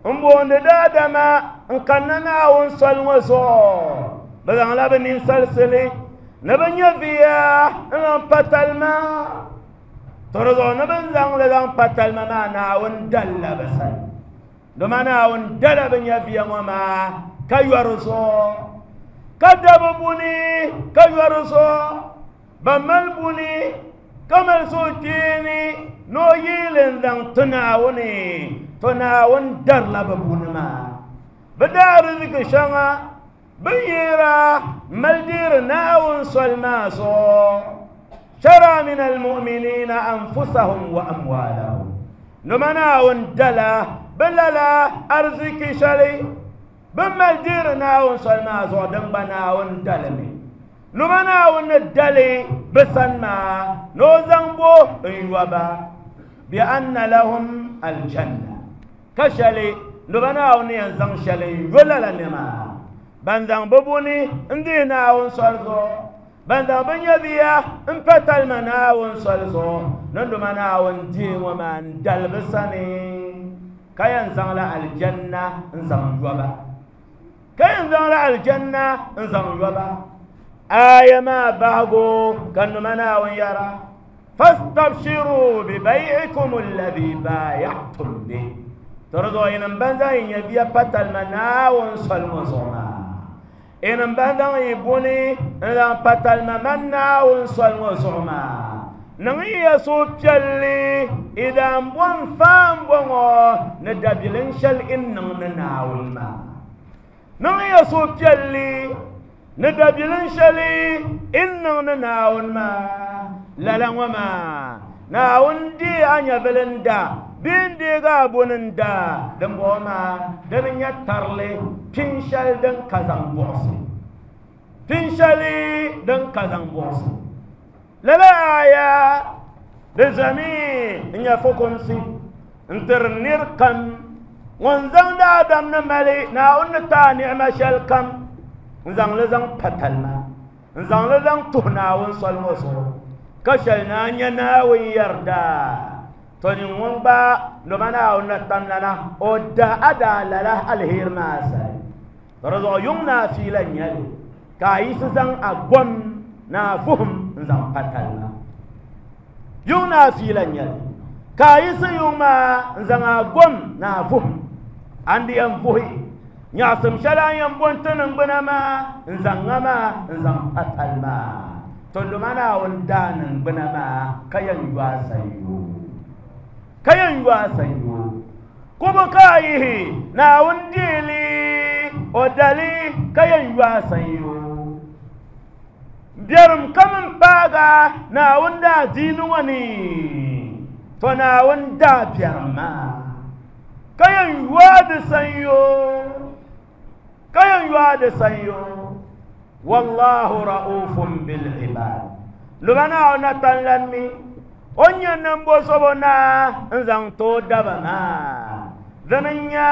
مبوند دادما نكننا ونسل وزو بدن لبن ينسلسلي نبن يفيا لن بتلما ترضو نبن زنغ لن بتلما ما ناون دل بسل دوما ناون دل بن يفيا وما كيورسو كدب بني كيورسو بمال بني كمال سوتيني نو يلن دان تناوني To Naawuni darila bɛ buni maa. Bɛ daa riziki shɛŋa bɛ yira mali deeri Naawuni soli maa zuɣu. Shara min almu'minina anfusahum wa amwalahum. Noma Naawuni dala bɛ lala ariziki shɛli bɛ mali deeri Naawuni soli maa zuɣu din gba Naawuni dalimi. Noma Naawuni ni dali bɛ sani maa ni o zaŋ bo n-yɔba bi anna lahum aljanna. Ka shɛli noma Naawuni yɛn zaŋ shɛli n-yo lala nɛma ban zaŋ bɛ buni n-dihi Naawuni soli zuɣu, ban zaŋ bɛ nyɛviya m-pa talima Naawuni soli zuɣu, ni noma Naawuni dihi ŋɔ maa n-dali bɛ sani ka yɛn zaŋla aljanna n-zaŋ yɔba. Ka yɛn zaŋla aljanna n-zaŋ yɔba. Aya maa bahigu ka noma Naawuni yɛra fastabshiru bibay'ikum alladhi baaya'tum bih. To di zuɣu yinim ban zaŋ yi nyɛviya pa talima Naawuni soli ŋɔ zuɣu maa, yinim ban zaŋ yi buni n-zaŋ pa talima man Naawuni soli ŋɔ zuɣu maa, niŋ ya suhupiɛlli i daa bom faam bɔŋɔ ni dabilin shɛli n niŋ ni Naawuni maa. Niŋ ya suhupiɛlli ni dabilin shɛli n niŋ ni Naawuni maa. Lala ŋɔ maa, Naawuni deei a nyɛvili n-da bee n-deegi a buni n-da dimbɔŋɔ maa dini nyɛ tarili pin shɛli din ka zaŋ buɣisi. Pin shɛli din ka zaŋ buɣisi. Lala aya di zami n-nyɛ fukumsi n-tiri nir kam ŋun zaŋ daadam ni mali Naawuni ni ti a ni'ima shɛli kam n-zaŋ li zaŋ pa talima, n-zaŋ li zaŋ tuhi Naawuni soli ŋɔ zuɣu ka shɛli ni a nya Naawuni yarida. To nyin ŋun gba noma Naawuni na tamlana o da a daa lala aliheri maa sali. To di zuɣu yuŋ ni a fiila n-nyɛ li ka a yiɣisi zaŋ a gom ni a vuhim n-zaŋ pa talima. Yuŋ ni a fiila n-nyɛ li ka a yiɣisi yuŋ maa n-zaŋ a gom ni a vuhim a ni di yɛn vuhi nyaɣisim shɛli a ni yɛn bo n-ti niŋgbuna maa n-zaŋ ŋa maa n-zaŋ pa talima. To noma Naawuni daa niŋgbuna maa ka yɛn yo a sanyoo. Ka yɛn yo a sanyoo. Kubu ka a yihi Naawuni deeli o dali ka yɛn yo a sanyoo. Biɛrim kam m-paaga Naawuni daa diini ŋɔ ni, to Naawuni daa biɛrim maa ka yɛn yo a di sanyoo. Ka yɛn yo a di sanyoo. Wallahu ra'ufun bil ibad. Noma Naawuni na tanlan mi o ni nyɛ nambozobo naa n-zaŋ ti o daba maa. Dini n-nyɛ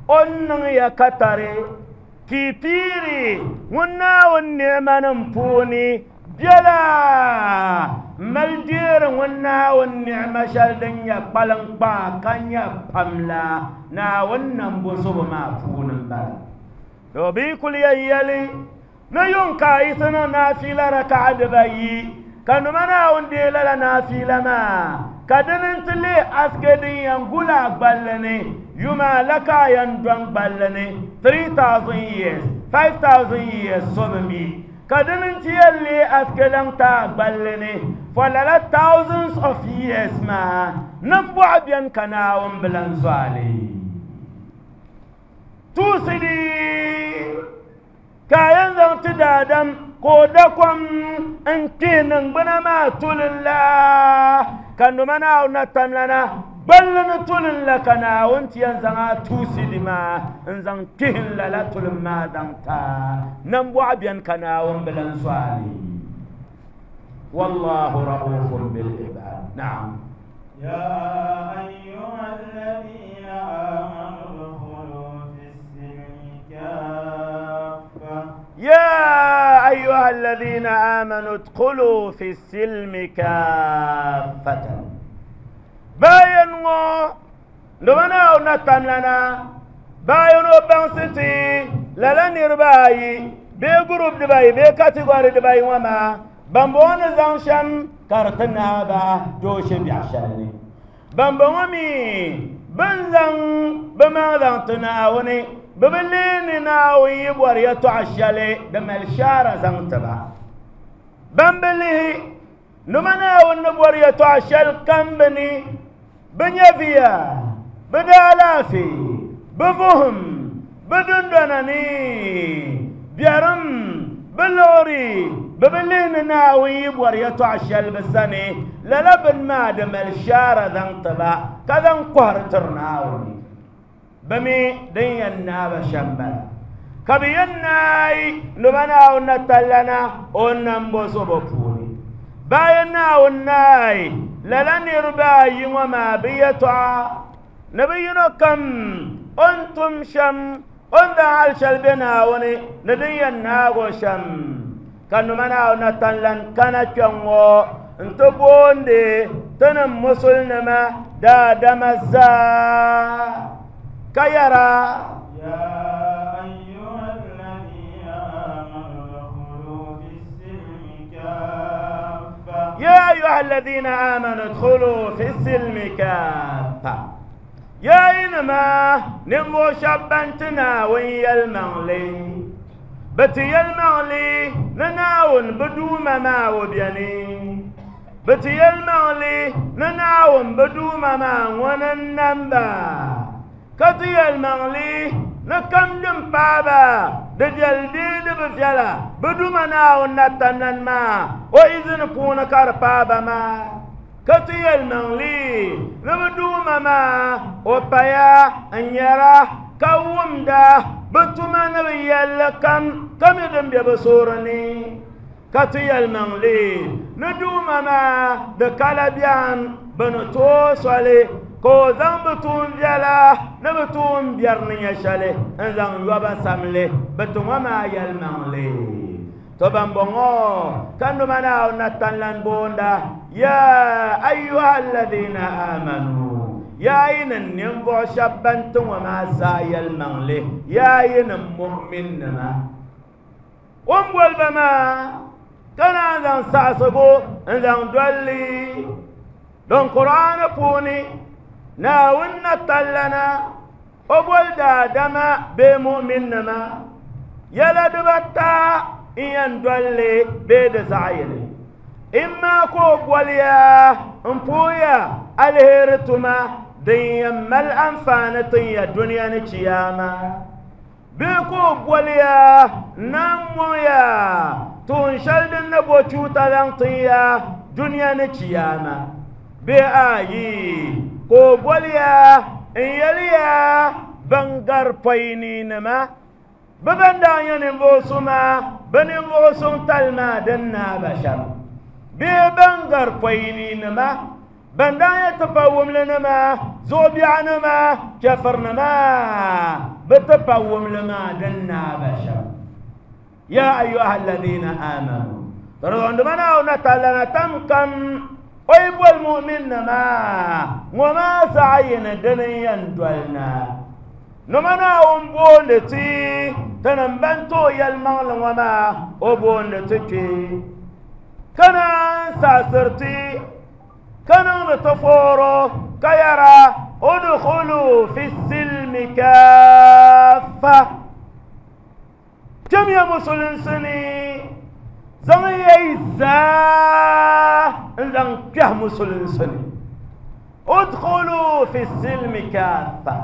o ni niŋ ya katari ka yi piiri ŋun Naawuni ni'manim puuni biɛla m-mali deeri ŋun Naawuni ni'ima shɛli din nyɛ kpaliŋkpaa ka nyɛ pam la Naawuni nambozobo maa puuni m-bala. To bɛ yi kuli yɛn yɛli ni yuŋ ka a yiɣisi niŋ naafila raka'a dibayi, ka noma Naawuni deei lala naafila maa, ka dini nti leei asike din yɛn guli a gballi ni yuma la ka a yɛn dɔŋ gballi ni 3000 years, 5000 years so bi mi, ka dini nti yɛn leei asike laŋ ti a gballi ni for lala thousands of years maa, nimbɔɣu beni ka Naawuni bi lan zo a li. Tuusi di ka a yɛn zaŋ ti daadam ka o da kom n-kpihi niŋgbuna maa tulin la, ka noma Naawuni na tamlana gballi ni tulin la, ka Naawuni ti yɛn zaŋ a tuusi di maa n-zaŋ kpihi n lala tulin maa zaŋ ti a. Nambɔɣu beni ka Naawuni bi lan zo a li. Wallahu ra'ufun bil ibad. Naam. Ya ayyuha alladhina amanu udkhulu fi as-silmi kaffa. Ya ayyuha alladhina amanu udkhulu fi as-silmi kaffatan. Bayan ŋɔ noma Naawuni na tamlana bayan o baŋsi ti lala niriba ayi bee group dibayi bee category dibayi ŋɔ maa bambɔŋɔ ni zaŋ shɛm ka di ti naai ba dooshe biɛɣu shɛli ni. Bambɔŋɔ mi bɛ ni zaŋ bɛ maŋ zaŋ ti Naawuni, bɛ bi lihi ni Naawuni yi bɔri yɛtɔɣa shɛli di mali shaara zaŋ ti ba. Ban bi lihi nima Naawuni ni bɔri yɛtɔɣa shɛli kam bɛ ni, bɛ nyɛviya, Bɛ daalaafee, bɛ vuhim, bɛ dundona ni biɛrim, bɛ liɣiri, bɛ bi lihi ni Naawuni yi bɔri yɛtɔɣ shɛli bɛ sani, lala bini maa di mali shaara zaŋ ti ba, ka zaŋ kɔhiri tiri Naawuni. Bɛ mi din yɛn naai ba shɛm bala. Ka bɛ yɛn naai ni ba Naawuni na tallana o ni nam bo so bɛ puuni. Bayan Naawuni naai lala niriba ayi ŋɔ maa bɛ yɛtɔɣa ni bɛ yino kam o ni tum shɛm, o ni zaŋ hal shɛli be Naawuni ni din yɛn naag o shɛm. Ka numa Naawuni na tanlan kana kpɛŋŋɔ nti boondi tinim musulinima daadama zaa ka yɛra, يا أيها الذين آمنوا ادخلوا في السلم كافة يا أيها الذين آمنوا ادخلوا في السلم كافة يا إنما نمو شبان Naawuni yɛlimaŋli bɛ ti yɛlimaŋli ni Naawuni bɛ duuma maa o beni bɛ ti yɛlimaŋli ni Naawuni bɛ duuma maa ŋuni n-nam ba ka ti yɛlimaŋli ni kam din paai ba di viɛli bee di bi viɛla bɛ duuma Naawuni na tamlan maa o izini puuni ka di paai ba maa ka ti yɛlimaŋli ni bɛ duuma maa o paya n-nyɛra ka wumda bɛ tuma ni bɛ yɛlli kam ka mi din be bɛ suhuri ni ka ti yɛlimaŋli ni duuma maa di kala biɛm bɛ ni tooi soli ka o zaŋ bɛ tuun viɛla ni bɛ tuun biɛri ni nyɛ shɛli n zaŋ yɔba samli bɛ ti ŋɔ maa yɛlimaŋli to ban bɔŋɔ ka numa Naawuni na tanlan boonda ya ayyuha alladhina amanu yaa yinim ninvuɣu shɛba ban ti ŋɔ maa zaa yɛlimaŋli yaa yinim mu'minnima o ni boli ba maa ka naan zaŋ saɣisigu n zaŋ dolli din Qur'aani puuni Naawuni na tallana o boli daadama bee mu'minnima yɛla dibata n yɛn dolli bee di zaɣ yini imma ka o boliya n puuya aliheri tuma din yɛn mali anfaani tin ya duniya ni chiyaama bee ka o boliya n-naan mɔŋya tuun shɛli din ni bo chuuta zaŋ tin ya duniya ni chiyaama bee ayi ka o boliya n yɛliya ban gari pɔyininima bɛ ban daa nyɛ ninvuɣ suma bɛ ninvuɣ suŋ tali maa din naai ba shɛm bee ban gari pɔyininima ban daa nyɛ tipawumlinima zuɣubiɛɣunima chɛfirinima bɛ tipawumli maa din naai ba shɛm ya ayuha alladhina amanu tɔrɔnduma Naawuni na tallana tam kam o yi boli mu'minnima ŋɔ maa zaɣ yini dini n-yɛn doli na numa Naawuni booni ti tinim ban tooi yɛlimaŋli ŋɔ maa o booni ti kpe ka naan saɣisiri ti ka niŋdi ti fooro ka yɛra udkhulu fi silmi kaafa kpɛmiya musulinsi ni zaŋ ya yi zaa n zaŋ kpɛhi musulinsi ni udkhulu fi silmi kaafa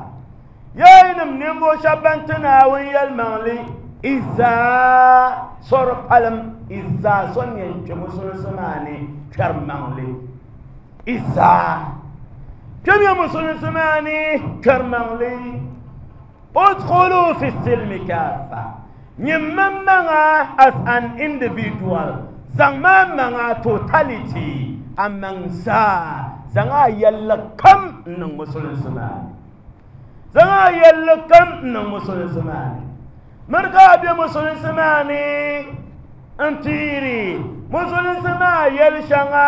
yaa yinim ninvuɣ shɛba ban ti Naawuni yɛlimaŋli i zaa sɔri palim i zaa so ni yɛn kpɛ musulinsi maa ni kpɛri maŋli i zaa kpɛmiya musulinsi maa ni kpɛri maŋli udkhulu fi silmi kaafa nyini maŋmaŋa as an individual zaŋ maa maŋa totality a maŋ zaa zaŋ a yɛlli kam n niŋ musulinsi maa ni zaŋ a yɛlli kam n niŋ musulinsi maa ni miri ka a be musulinsi maa ni n piiri musulinsi maa yɛli shɛŋa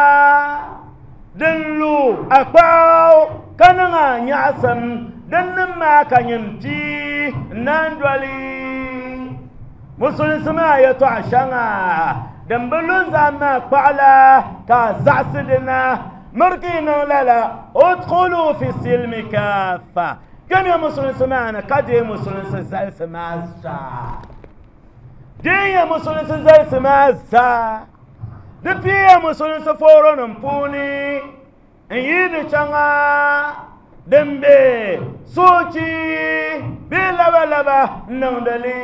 din lu a kpaɣu ka niŋ a nyaɣisim din nim maa ka nyin pii n naan doli musulinsi maa yɛtɔɣa shɛŋa din bi lu zaham maa kpaɣu la ka a zaɣisi dina miri ka yi niŋ lala udkhulu fi silmi kaafa kpɛmiya musulinsi maa ni ka deei musulinsi zalisi maa zaa deeya musulinsi zalisi maa zaa di piiya musulinsi fooronim puuni n yi di shɛŋa Din be soochi bee labalaba n-niŋdi li,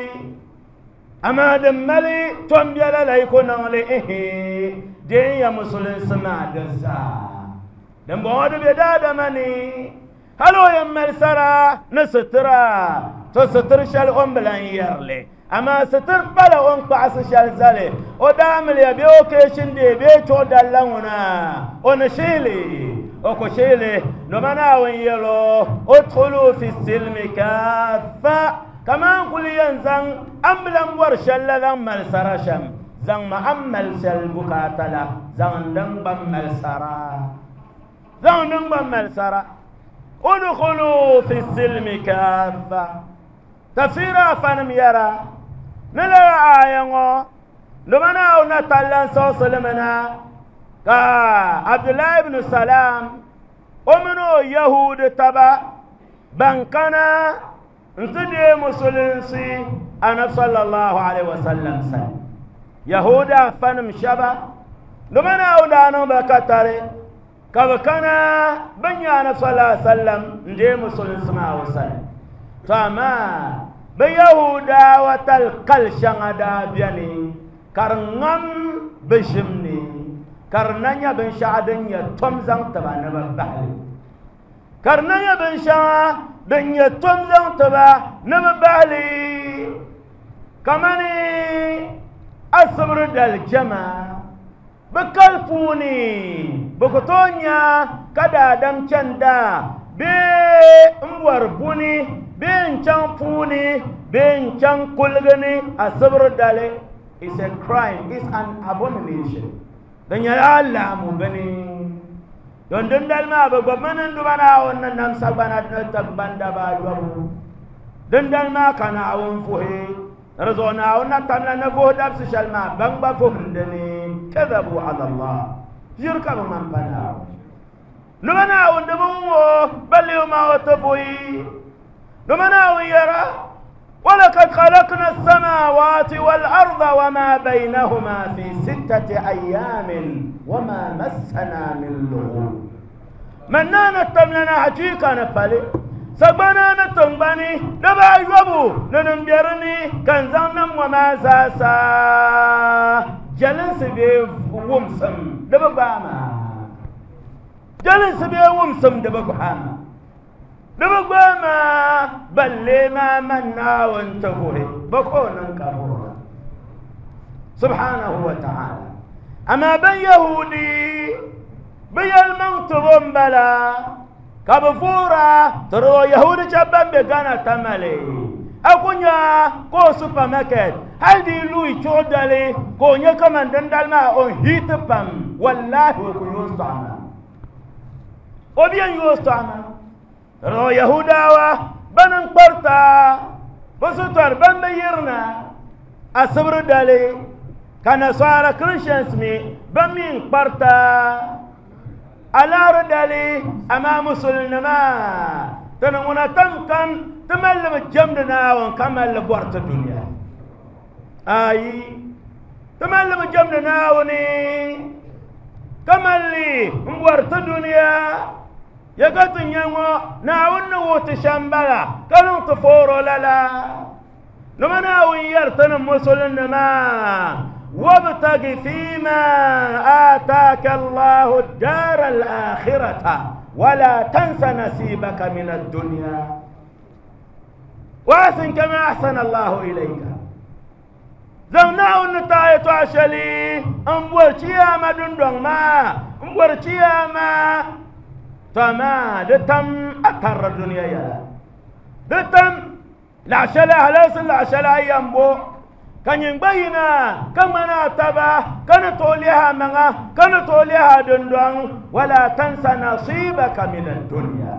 amaa din mali tɔmbiɛla la yi ku niŋ li, ihi, deenya musulinsi maa di zaa. Dimbɔŋɔ di be daadama ni, hal o yɛn mali sara ni sitira, to sitir shɛli o ni bi lan yɛri li, amaa sitir pala o ni kpaɣisi shɛli zali o daamiliya bee o keeshindee bee chuɣu dali la ŋuna, o ni shihi li, o ku shihi li. Dama Naawuni yɛl o, Udkhulu fi silmi kaafa, kaman kul yɛn zaŋ a ni bi lan bɔri shɛli la zaŋ mali sara shɛm, zaŋmi a ni mali shɛli bukaata la zaŋ n din gba mali sara. Zaŋ n din gba mali sara. Udkhulu fi silmi kaafa. Tafsira afanim yɛra ni lala aaya ŋɔ dama Naawuni na talla n-siɣisi li mi na ka Abdullahi ibn Salam o mini o Yahuudi taba ban kana n-ti deei musulinsi Anabi sallallahu alaihi wasallam sani. Yahuudi afanim shɛba dama Naawuni daa niŋ ba katari ka bɛ kana bɛ nya Anabi sallallahu alaihi wasallam n-deei musulinsi maa o sani. To amaa bɛ Yahuudawa tali kali shɛŋa daa beni ka di ŋam bɛ ʒim ni ka di na nya binshɛɣu din nyɛ tom zaŋ ti ba ni bɛ bahi li. Ka di na nyɛ binshɛŋa din nyɛ tom zaŋ ti ba ni bɛ bahi li kamani asibiri dali jɛma. Bɛ kali puuni, bɛ ku tooi nya ka daadam chani daa bee m-bɔri buni bee n-chaŋ puuni bee n-chaŋ kuligi ni asibiri dali. It's a crime, it's an abomination. Di nyɛla alaamu bini. Don dindali maa bɛ gbubimi ni n-duba Naawuni ni nam sagbana ni tiŋgbani daba ayɔbu. Dindali maa ka Naawuni vuhi. Di zuɣu Naawuni na tamla ni vuhi dabisi shɛli maa ban gba vuhindi ni kadhabu ala Allah. Ʒiri ka bɛ ŋmani pa Naawuni. Dama Naawuni di bi wum o, balli o maa o ti vuhi. Dama Naawuni yɛra, Walakad khalaqna as-samawati wal-arda wa ma baynahuma fi sittati ayyamin wa ma massana min lughub. Man naana tamla na hachiika ni pali sagbana ni tiŋgbani daba ayɔbu ni din be di ni ka n zaŋ nam ŋɔ maa zaasa jɛlinsi bee wumsim di bi gbaai maa jɛlinsi bee wumsim di bi gbaai maa di bi gbaai maa balle maa man Naawuni ti vuhi bɛ ka o niŋ ka vuhira subhanahu wa ta'ala amaa ban Yahudi bɛ yɛlimaŋ tibo m-bala ka bɛ vuura tiri o Yahudi shɛba ban be Ghana Tamale. A ku nya ka o supermarket hali di yi luui chuɣu dali ka o nya kaman dindali maa o ni hiiti pam, wallahi o ku yooi sɔɣu maa. O bi yɛn yooi sɔɣu maa. Tiri o Yahudawa bani n-kparita bɛ sitɔri ban bi yirina asibiri dali, ka Nasara Christians mi ban mi n-kparita alahiri dali, amaa musulinima ti ni ŋuna tam kam ti mali li bi jɛmdi Naawuni ka mali li bɔri ti dunia. Ayi, ti mali li bi jɛmdi Naawuni ka mali li m-bɔri ti dunia. Ya ka ti nya ŋɔ, Naawuni ni wuhi ti shɛm bala, ka niŋ ti fooro lala. Dama Naawuni yɛri ti ni musulinima, Wabtagi fima aataaka Allahu daara al-akhirata wala tansa nasibaka min ad-dunya wa ahsin kama ahsana Allahu ilayka. Zaŋ Naawuni ni taai yɛtɔɣa shɛli m-bɔri chiyaama dundɔŋ maa, m-bɔri chiyaama, to amaa di tam a tariri dunia yɛla. Di tam laɣ shɛli halalisi laɣ shɛli a yɛn bo, ka nyin gba yina ka ŋmani a taba, ka ni tooi lihi a maŋa, ka ni tooi lihi a dundɔŋ, wala tansa nasibaka min ad-dunya.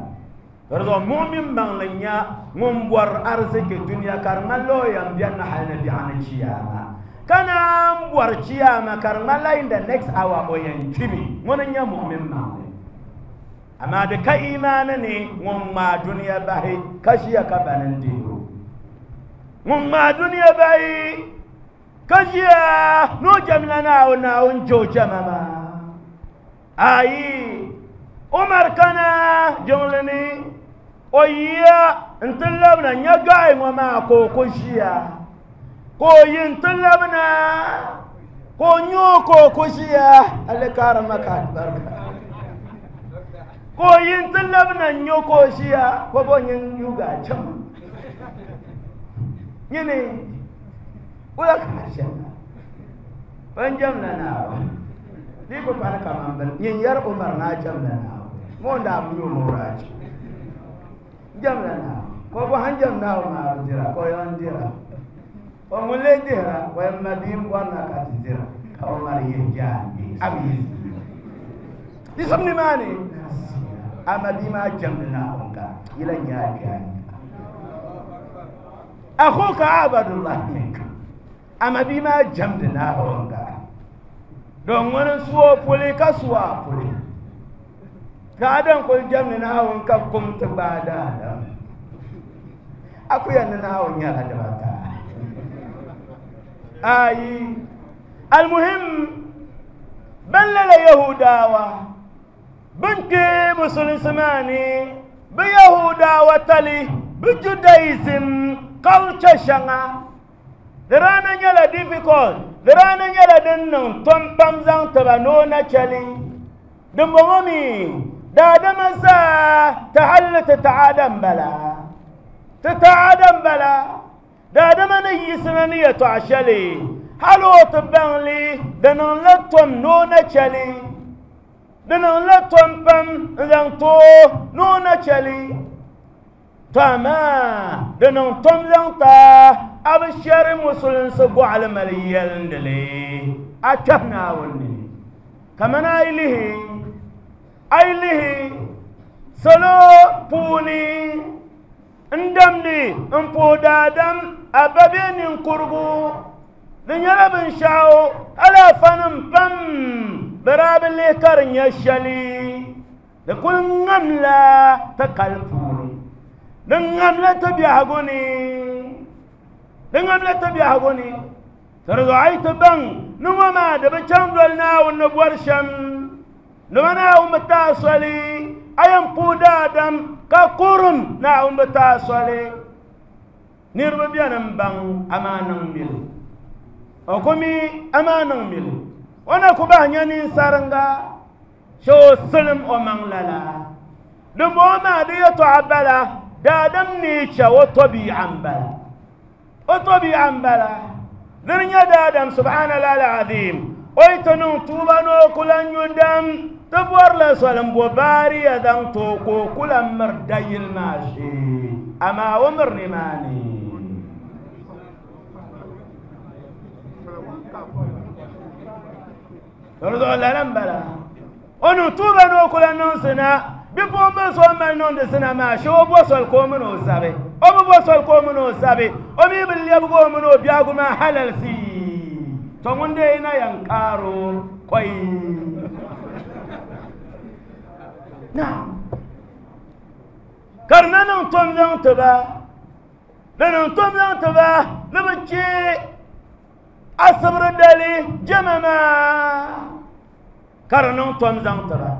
Di zuɣu mu'min maŋli n-nya ŋun bɔri ariziki dunia ka di ŋmanila o yɛn beni hali ni biɛɣu ni chiyaama, ka naan bɔri chiyaama ka di ŋmanila in the next hour o yɛn kpimi, ŋuni n-nyɛ mu'min maŋli. Amaa di ka imaani ni ŋun ŋmaai dunia bahi ka ʒiya ka bani n-deei o. Ŋun ŋmaai dunia bahi ka ʒiya ni o jɛmla Naawuni, Naawuni je o jɛma maa. Ayi, Umar kana jiŋli ni. O yiya n-ti labina nya gaɣi ŋɔ maa ka o ku ʒiya. Ka o yi n-ti labina ka o nya o ka o ku ʒiya. Alikaari maka alibarika. Ka o yi n-ti labina n-nya o ka o ʒiya ka o bo nyin yuga cham. Nyini wula ka a ʒiya? Ban jɛmla Naawuni. Di yi ku pani kaman bini, nyin yɛri Umar ni a jɛmla Naawuni. Ŋɔ n-daa bi yo Mawraaji. Jɛmla Naawuni. Ka o bɔhi n jɛm Naawuni maa bi dira, ka o yɛn dira. O ŋun lee dihira, o yɛn ma bia m-bɔri na ka ti dira, ka Umar yihi jaangbee, a bi yi zi. Di sum nimaani, a ma bia maa jɛmdi Naawuni ka yi lan nyɛ a kpee a nya. Akhuka abadullah minka. Ama bia maa jɛmdi Naawuni ka don ŋuni n su o puli ka su a puli. Ka Adam kuli jɛmdi Naawuni ka kum ti gbaai daadam. A ku yɛn ni Naawuni nyɛla dibata. Ayi, almuhim, ban lala Yahudawa bin kpe musulinsi maa ni, bi Yahudawa tali, bi Judaism culture shɛŋa, di daa na nyɛla difficult, di daa na nyɛla din niŋ tom pam zaŋ tiba ni o na chɛli. Dimbɔŋɔ mi, daadama zaa ti halli ti taɣada m-bala. Ti taɣada m-bala. Daadama ni yiɣisina ni yɛtɔɣ shɛli, hal o ti baŋ li, di niŋla tom ni o na chɛli. Di niŋla tom pam n-zaŋ ti o ni o na chɛli. To amaa di niŋ tom zaŋ ti a, a bi shɛri musulinsi gɔɣili mali yɛlindili a kpɛhi Naawuni ni. Kamani a yi lihi, a yi lihi salo puuni n-damdi m-puhi daadam a ba bee ninkurigu, di nyɛla binshɛɣu alaafanim pam bɛ daa bi lihi ka di nyɛ shɛli. Di kuli ŋamla ti kali puuni, di ŋamla ti biɛhigu ni, di ŋamla ti biɛhigu ni. Di zuɣu a yi ti baŋ ni ŋɔ maa di bi chaŋ doli Naawuni ni bɔri shɛm, dama Naawuni bi ti a soli, a yɛn puhi daadam ka kurim Naawuni bi ti a soli. Niriba beni m-baŋ amaa niŋ mili, o ku mi amaa niŋ mili, o na ku bahi nya ninsaringa. Che o silim o maŋ lala. Dimbɔŋɔ maa di yɛtɔɣa bala, daadam ni che o tɔbii'a m-bala. O tɔbii'a m-bala. Dini nyɛ daadam subhanallah al-azim, o yi ti niŋ tuuba ni o ku lan nyu dam, ti bɔrila soli m-bo baariya zaŋ ti o ka o ku lan miri dayili maa shee, amaa o miri nimaani. Di zuɣu lala m-bala. O niŋ tuuba ni o ku lan niŋ zina. Bipuɣimbil so o mali niŋdi zina maa, shee o bo soli ka o mini o zabi. O bi bo soli ka o mini o zabi. O mi bi lɛbigi o mini o biɛhigu maa halalisi. Tɔ ŋun dee na yɛn kaar o kɔi. Naam. Ka di na niŋ tom zaŋ ti ba. Di niŋ tom zaŋ ti ba ni bɛ chɛ Asibiri dali jɛma maa ka di niŋ tom zaŋ ti ba,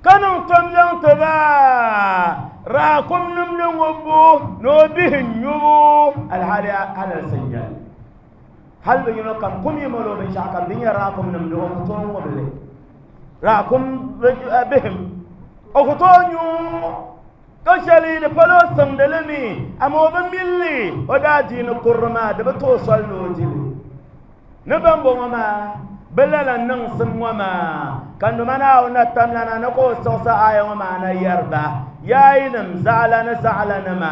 ka niŋ tom zaŋ ti ba raakum nimdi ŋubbu ni o bihi nyubu alhali halalisi n-nyɛ li. Hali bi yino kam kum yi mali o binshɛɣu kam di nyɛ raakum nimdi o ku tooi ŋubi li, raakum bihim o ku tooi nyu. Ka shɛli di pala o simdi li mi, amaa o bi mili li o daadiini kurili maa, di bi ti o soli ni o di li. Ni bɛmbɔŋɔ maa bi lala niŋsim ŋɔ maa, ka numa Naawuni na tamlana ni ka o siɣisi aaya ŋɔ maa na yɛri ba, Yaa yinim zaɣilani zaɣilanima,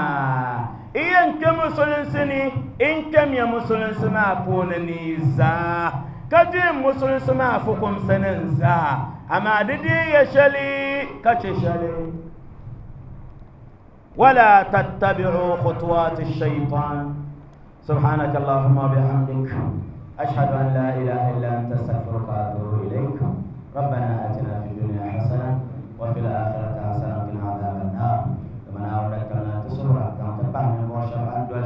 yi yɛn kpe musulinsi ni, n kpɛmiya musulinsi maa puuni ni yi zaa, ka deei musulinsi maa fukumsi ni n-zaa, amaa di deei ya shɛli ka chɛ shɛli. ولا تتبعوا خطوات الشيطان. سبحانك اللهم وبحمدك، أشهد أن لا إله إلا أنت، أستغفرك وأتوب إليك. ربنا آتنا في الدنيا حسنة وفي الآخرة حسنة وقنا عذاب النار. لمن أولك لنا تسرع تنتبه من بوشر أن دول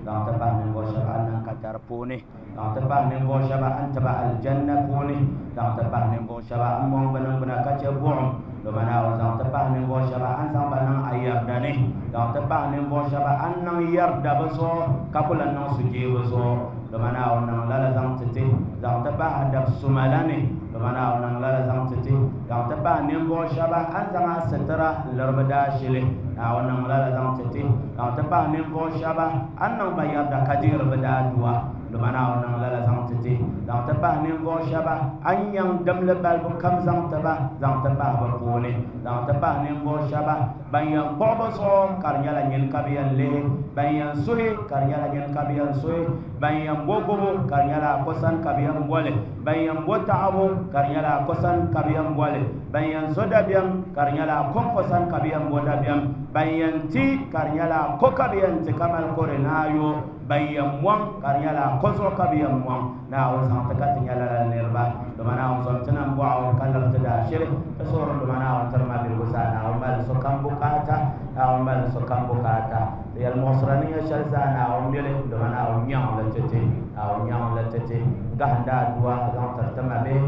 تنتبه من بوشر أن قدر بوني، تنتبه من بوشر أن تبع الجنة بوني، تنتبه من بوشر أن مؤمن بنا كتبهم. Doma Naawuni zaŋ ti pahi ninvuɣu shɛba a ni zaŋ ba niŋ a yarda ni, zaŋ ti pahi ninvuɣu shɛba a ni niŋ yarda bɛ zuɣu ka ku lan niŋ sujee bɛ zuɣu. Doma Naawuni niŋ lala zaŋ ti ti, zaŋ ti pahi a dab suma la ni. Doma Naawuni niŋ lala zaŋ ti ti, zaŋ ti pahi ninvuɣu shɛba a ni zaŋ a sitira n-liri bɛ daashili. Naawuni niŋ lala zaŋ ti ti, zaŋ ti pahi ninvuɣu shɛba a ni niŋ ba yarda ka deeri bɛ daadua. Doma Naawuni niŋ lala zaŋ ti ti, zaŋ ti pahi ninvuɣu shɛba a ni nyaŋ dimli balibu kam zaŋ ti ba, zaŋ ti pahi bɛ puuni, zaŋ ti pahi ninvuɣu shɛba ban yɛn kpuɣi bɛ zuɣu ka di nyɛla nyini ka bɛ yɛn lihi, ban yɛn suhi ka di nyɛla nyini ka bɛ yɛn suhi, ban yɛn bo gubu ka di nyɛla a ko sani ka bɛ yɛn boli, ban yɛn bo taɣibu ka di nyɛla a ko sani ka bɛ yɛn boli, ban yɛn zo dabiɛm ka di nyɛla a kɔŋko sani ka bɛ yɛn bo dabiɛm, ban yɛn ti ka di nyɛla a ko ka bɛ yɛn ti ka mali kore naayo, ban yɛn mɔŋ ka di nyɛla a ko zuɣu ka bɛ yɛn mɔŋ. Naawuni zaŋ ti ka ti nyɛla lala niriba. Doma Naawuni zom ti nam bɔɣu ka liri ti daashili. Ti suhuri doma Naawuni tiri ma bihigu zaa. Naawuni mali sokam bukaata. Naawuni mali sokam bukaata. Ti yɛli muɣisira ni nyɛ shɛli zaa Naawuni mili. Doma Naawuni nyaŋ li ti ti. Naawuni nyaŋ li ti ti. Gahindi aduwa zaŋ tiri ti ma bihi.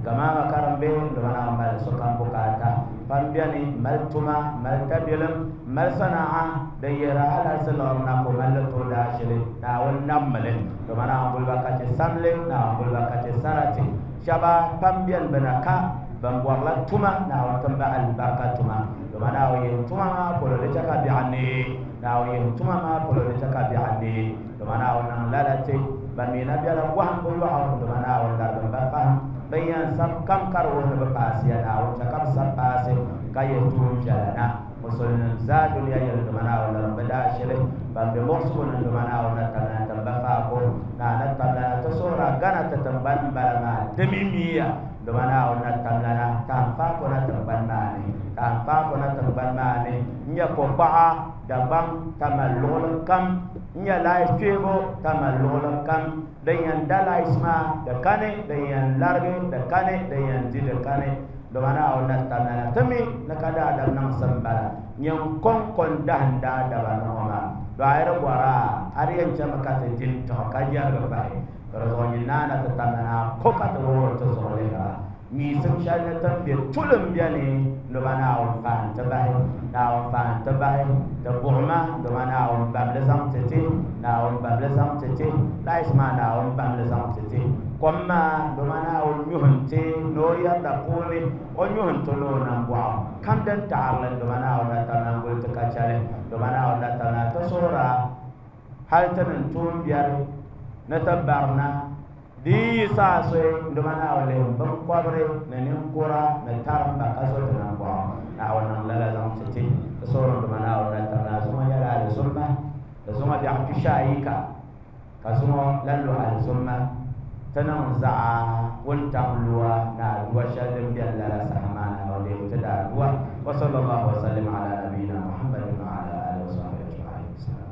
Gamaama karimbihi. Doma Naawuni mali sokam bukaata. Pam beni mali tuma, mali tabilim, mali sanaa din yihiri halalsi liɣiri na ka o mali li ti o daashili. Naawuni nammili. Doma Naawuni guliba ka chɛ samli, Naawuni guliba ka chɛ sarati. Shɛba pam beni bɛ na ka ban bɔrila tuma, Naawuni tim ba alibarika tuma. Doma Naawuni yihi tuma maa polo di chɛ ka biɛɣu neei. Naawuni yihi tuma maa polo di chɛ ka biɛɣu neei. Doma Naawuni niŋ lala ti ban mi na bela bɔhimbu yɔɣu. Doma Naawuni larigim ba fahim bɛn yɛn sab kam ka di wuhi ni bɛ paasiya. Naawuni chɛ ka bɛ sab paasi ka yihi tuun viɛla na. Musulinim zaa dunia yɛli doma Naawuni larim bɛ daashili. Ban be muɣisigu ni doma Naawuni na tabila na tim ba faako. Naa na tabila na ti suhira Ghana ti tiŋgbani m-bala maa di mi miya. Doma Naawuni na tabila na tahin faako na tiŋgbani maa ni. Tahin faako na tiŋgbani maa ni. N-nyɛ kokpaɣa Dagbaŋ Tamale luɣili kam. N-nyɛ laayisi kpeebu Tamale luɣili kam. Din yɛn da laayisi maa di kani, din yɛn larigi di kani, din yɛn di di kani. Doma Naawuni na tabila na ti mi ni ka daadam niŋsim bala. Nyin kɔŋko n-dahim daadama ni ŋɔ maa. Dɔɣiri bɔra a, a di yɛn chami ka ti di n-tiɣi ka yɛrigi bahi. Ka di zuɣu nyin naa na ti tabila na a ko ka ti wuhiri ti zuɣu lihira. Miisim shɛli ni ti ni be tulim beni, doma Naawuni fahi n-ti bahi. Naawuni fahi n-ti bahi. Ti buɣima, doma Naawuni bam li zaŋ ti ti. Naawuni bam li zaŋ ti ti. Laayisi maa Naawuni bam li zaŋ ti ti. Kom maa, doma Naawuni nyuhi n-ti ni o yarida puuni, o nyuhi n-ti ni o nambɔɣu kam din taɣiri li, doma Naawuni na tabila n-guli ti ka chɛli. Doma Naawuni na tabila ti suhira hal ti niŋ tuumbiɛri ni ti barina. Di yi yi saha soyi, doma Naawuni lihim biŋkɔbiri ni ninkura ni tarimba ka zo ti nambɔɣu. Naawuni niŋ lala zaŋ ti ti. Ti suhiri doma Naawuni na tabila zuŋɔ nyɛla alizumma, di zuŋɔ biɛɣu tushi ayika ka zuŋɔ lan lu alizumma. Ti niŋ zaɣa wuntaŋ lua ni aduwa shɛli din beni lala saha maa Naawuni deemi ti daadua. Wa sallallahu wa sallim ala nabiyina Muhammadin wa ala alihi wa sahbihi ajma'in.